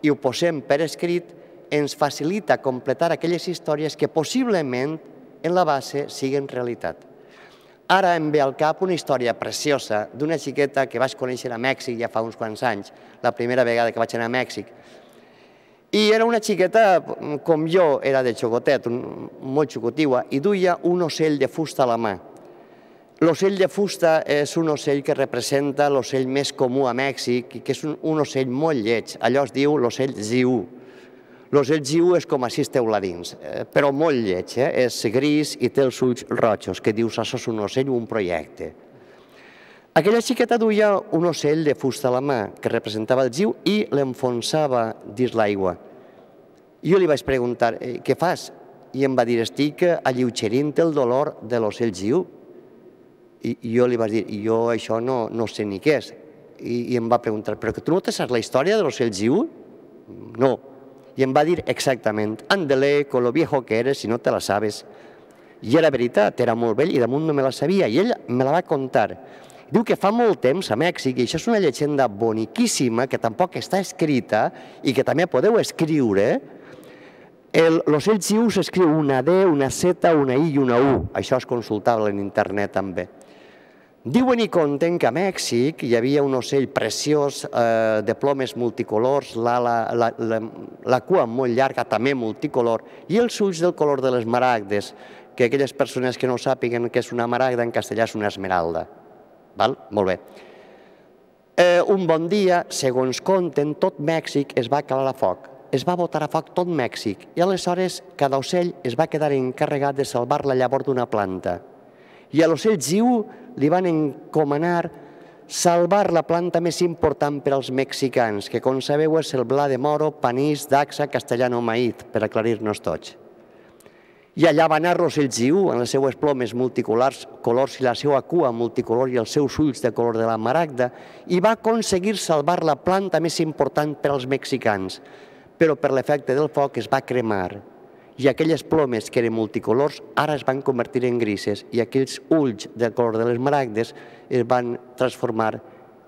Speaker 3: i ho posem per escrit, ens facilita completar aquelles històries que possiblement en la base siguin realitat. Ara em ve al cap una història preciosa d'una xiqueta que vaig conèixer a Mèxic ja fa uns quants anys, la primera vegada que vaig anar a Mèxic. I era una xiqueta com jo, era de xocotet, molt xocotiua, i duia un ocell de fusta a la mà. L'ocell de fusta és un ocell que representa l'ocell més comú a Mèxic, que és un ocell molt lleig, allò es diu l'ocell ziú. L'ocell ziú és com així esteu-la dins, però molt lleig, és gris i té els ulls rojos, que dius, això és un ocell o un projecte. Aquella xiqueta duia un ocell de fusta a la mà, que representava el ziú, i l'enfonsava dins l'aigua. Jo li vaig preguntar, què fas? I em va dir, estic alleugerint el dolor de l'ocell ziú. I jo li vaig dir, jo això no sé ni què és. I em va preguntar, però que tu no te saps la història de l'ocell ziú? No. I em va dir exactament, ándale, con lo viejo que eres si no te la sabes. I era veritat, era molt vell i damunt no me la sabia, i ell me la va contar. Diu que fa molt temps a Mèxic, i això és una llegenda boniquíssima, que tampoc està escrita i que també podeu escriure. L'ocell ziú s'escriu una D, una Z, una I i una U. Això és consultable en internet també. Diuen i conten que a Mèxic hi havia un ocell preciós de plomes multicolors, la cua molt llarga, també multicolor, i els ulls del color de les maragdes, que aquelles persones que no sàpiguen què és una maragda en castellà és una esmeralda. Molt bé. Un bon dia, segons conten, tot Mèxic es va calar a foc. Es va botar a foc tot Mèxic i aleshores cada ocell es va quedar encarregat de salvar la llavor d'una planta. I a l'ocell ziú li van encomanar salvar la planta més important per als mexicans, que com sabeu és el blat de moro, panís, daxa, castellano, maíz, per aclarir-nos tots. I allà va anar l'ocell ziú, amb les seues plomes multicolors i la seva cua multicolor i els seus ulls de color de la maragda, i va aconseguir salvar la planta més important per als mexicans, però per l'efecte del foc es va cremar. I aquelles plomes que eren multicolors ara es van convertir en grises i aquells ulls del color de les maragdes es van transformar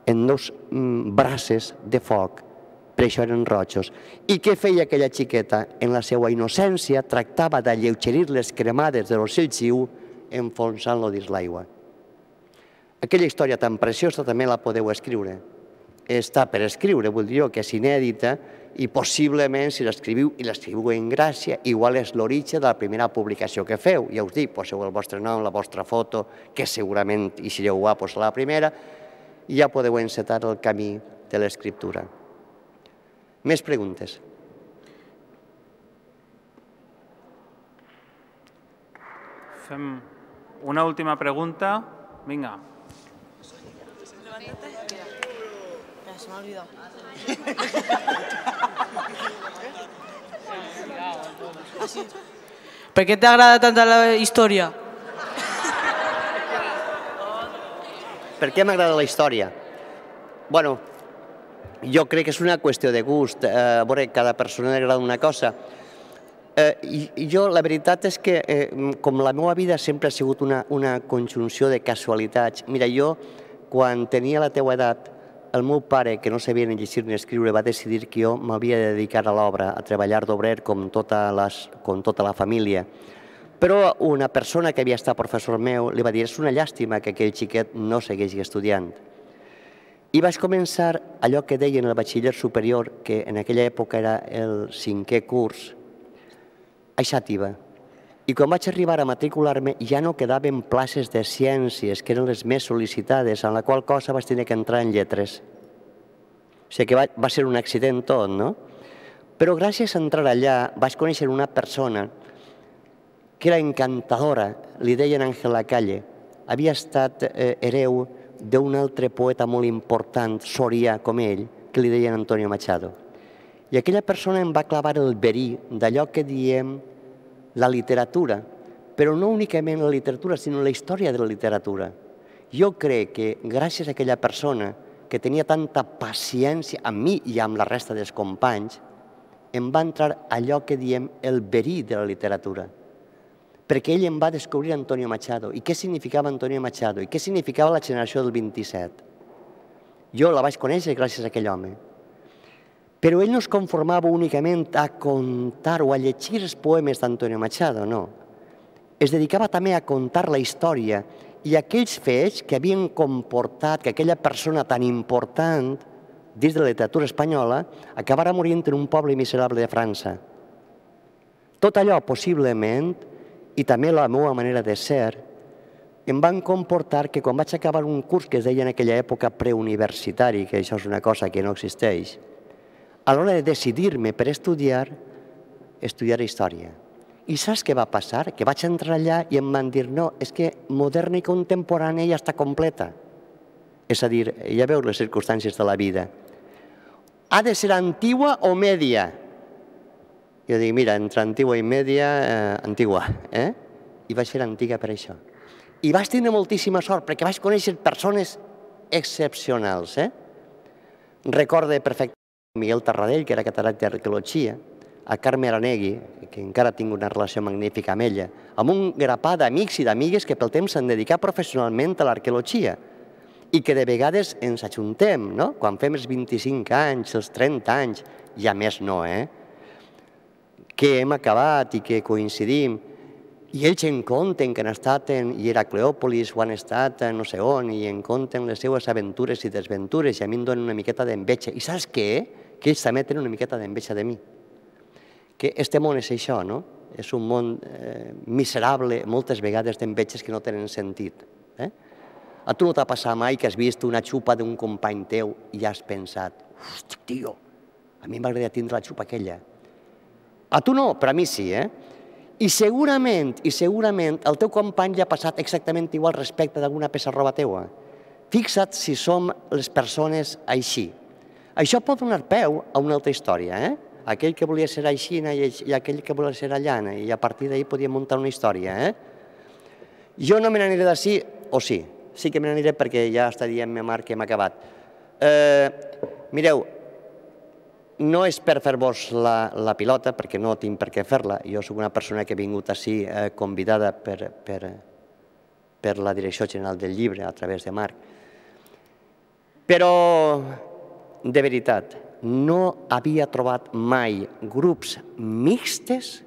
Speaker 3: en dos braces de foc, per això eren rojos. I què feia aquella xiqueta? En la seva innocència tractava d'alleugerir les cremades de l'ocell ziú enfonsant-lo dins l'aigua. Aquella història tan preciosa també la podeu escriure. Està per escriure, vull dir que és inèdita, i possiblement, si l'escriviu i l'escriviu en gràcia, igual és l'origen de la primera publicació que feu. Ja us dic, poseu el vostre nom, la vostra foto, que segurament, i si sereu guapos, la primera, i ja podeu encetar el camí de l'escriptura. Més preguntes?
Speaker 1: Fem una última pregunta. Vinga.
Speaker 13: Se m'ha olvidat.
Speaker 7: Per què t'agrada tant la història?
Speaker 3: Per què m'agrada la història? Bueno, jo crec que és una qüestió de gust. A veure, cada persona li agrada una cosa. I jo, la veritat és que, com la meva vida sempre ha sigut una conjunció de casualitats. Mira, jo, quan tenia la teua edat, el meu pare, que no sabia ni llegir ni escriure, va decidir que jo m'havia de dedicar a l'obra, a treballar d'obrer com tota la família. Però una persona que havia estat professor meu li va dir: és una llàstima que aquell xiquet no segueixi estudiant. I vaig començar allò que deien el batxiller superior, que en aquella època era el 5è curs, a Xàtiva. I quan vaig arribar a matricular-me ja no quedaven places de ciències, que eren les més sol·licitades, en la qual cosa vaig tenir que entrar en lletres. O sigui que va ser un accident tot, no? Però gràcies a entrar allà vaig conèixer una persona que era encantadora, li deien Àngel Lacalle. Havia estat hereu d'un altre poeta molt important, sorià com ell, que li deien Antonio Machado. I aquella persona em va clavar el verí d'allò que diem la literatura, però no únicament la literatura, sinó la història de la literatura. Jo crec que gràcies a aquella persona que tenia tanta paciència amb mi i amb la resta dels companys, em va entrar allò que diem el verí de la literatura. Perquè ell em va descobrir Antonio Machado. I què significava Antonio Machado? I què significava la generació del 27? Jo la vaig conèixer gràcies a aquell home. Però ell no es conformava únicament a contar o a llegir els poemes d'Antonio Machado, no. Es dedicava també a contar la història i aquells fets que havien comportat que aquella persona tan important dins de la literatura espanyola acabara morint en un poble miserable de França. Tot allò, possiblement, i també la meva manera de ser, em van comportar que quan vaig acabar un curs que es deia en aquella època preuniversitari, que això és una cosa que no existeix, a l'hora de decidir-me per estudiar història. I saps què va passar? Que vaig entrar allà i em van dir: no, és que moderna i contemporània ja està completa. És a dir, ja veus les circumstàncies de la vida. Ha de ser antigua o media? Jo dic: mira, entre antigua i media, antigua. I vaig ser antiga per això. I vaig tenir moltíssima sort perquè vaig conèixer persones excepcionals. Recorde perfectament Miguel Tarradell, que era catedràtic d'arqueologia, a Carme Aranegui, que encara tinc una relació magnífica amb ella, amb un grapà d'amics i d'amigues que pel temps s'han dedicat professionalment a l'arqueologia i que de vegades ens ajuntem, no? Quan fem els 25 anys, els 30 anys, ja més no, que hem acabat i que coincidim. I ells en conten que han estat en Heracleòpolis o han estat no sé on i en conten les seues aventures i desventures i a mi em donen una miqueta d'enveja. I saps què? Que ells també tenen una miqueta d'enveja de mi. Que este món és això, no? És un món miserable, moltes vegades d'enveges que no tenen sentit. A tu no t'ha passat mai que has vist una xupa d'un company teu i has pensat: hosti, tio, a mi m'agradaria tindre la xupa aquella. A tu no, però a mi sí, I segurament el teu company li ha passat exactament igual respecte d'alguna peça de roba teua. Fixa't si som les persones així. Això pot donar peu a una altra història, Aquell que volia ser aixina i aquell que volia ser allana, i a partir d'ahir podíem muntar una història, Jo no me n'aniré d'ací, o sí? Sí que me n'aniré perquè ja està dient ma mare que hem acabat. Mireu, no és per fer-vos la pilota, perquè no tinc per què fer-la. Jo soc una persona que he vingut ací convidada per la Direcció General del Llibre, a través de Marc. Però, de veritat, no havia trobat mai grups mixtes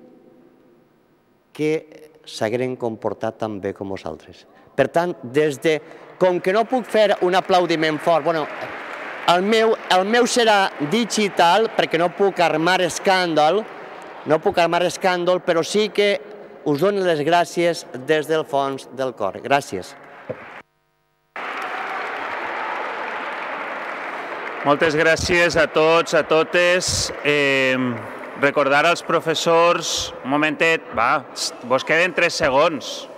Speaker 3: que s'hagueren comportat tan bé com vosaltres. Per tant, com que no puc fer un aplaudiment fort, el meu serà digital perquè no puc armar escàndol, però sí que us dono les gràcies des del fons del cor. Gràcies.
Speaker 1: Moltes gràcies a tots, a totes. Recordar als professors, un momentet, vos queden 3 segons.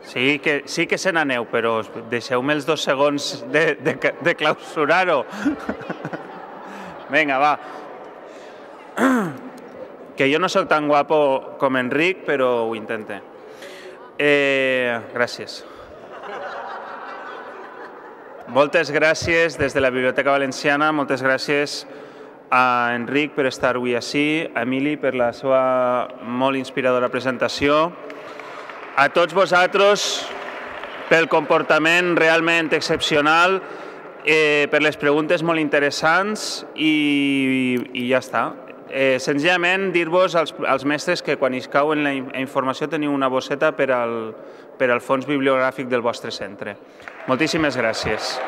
Speaker 1: Sí que se n'aneu, però deixeu-me els 2 segons de clausurar-ho. Vinga, va. Que jo no sóc tan guapo com Enric, però ho intente. Gràcies. Moltes gràcies des de la Biblioteca Valenciana, moltes gràcies a Enric per estar avui ací, a Emili per la seva molt inspiradora presentació, a tots vosaltres pel comportament realment excepcional, per les preguntes molt interessants i ja està. Senzillament dir-vos als mestres que quan us cau en la informació teniu una bosseta per al fons bibliogràfic del vostre centre. Moltíssimes gràcies.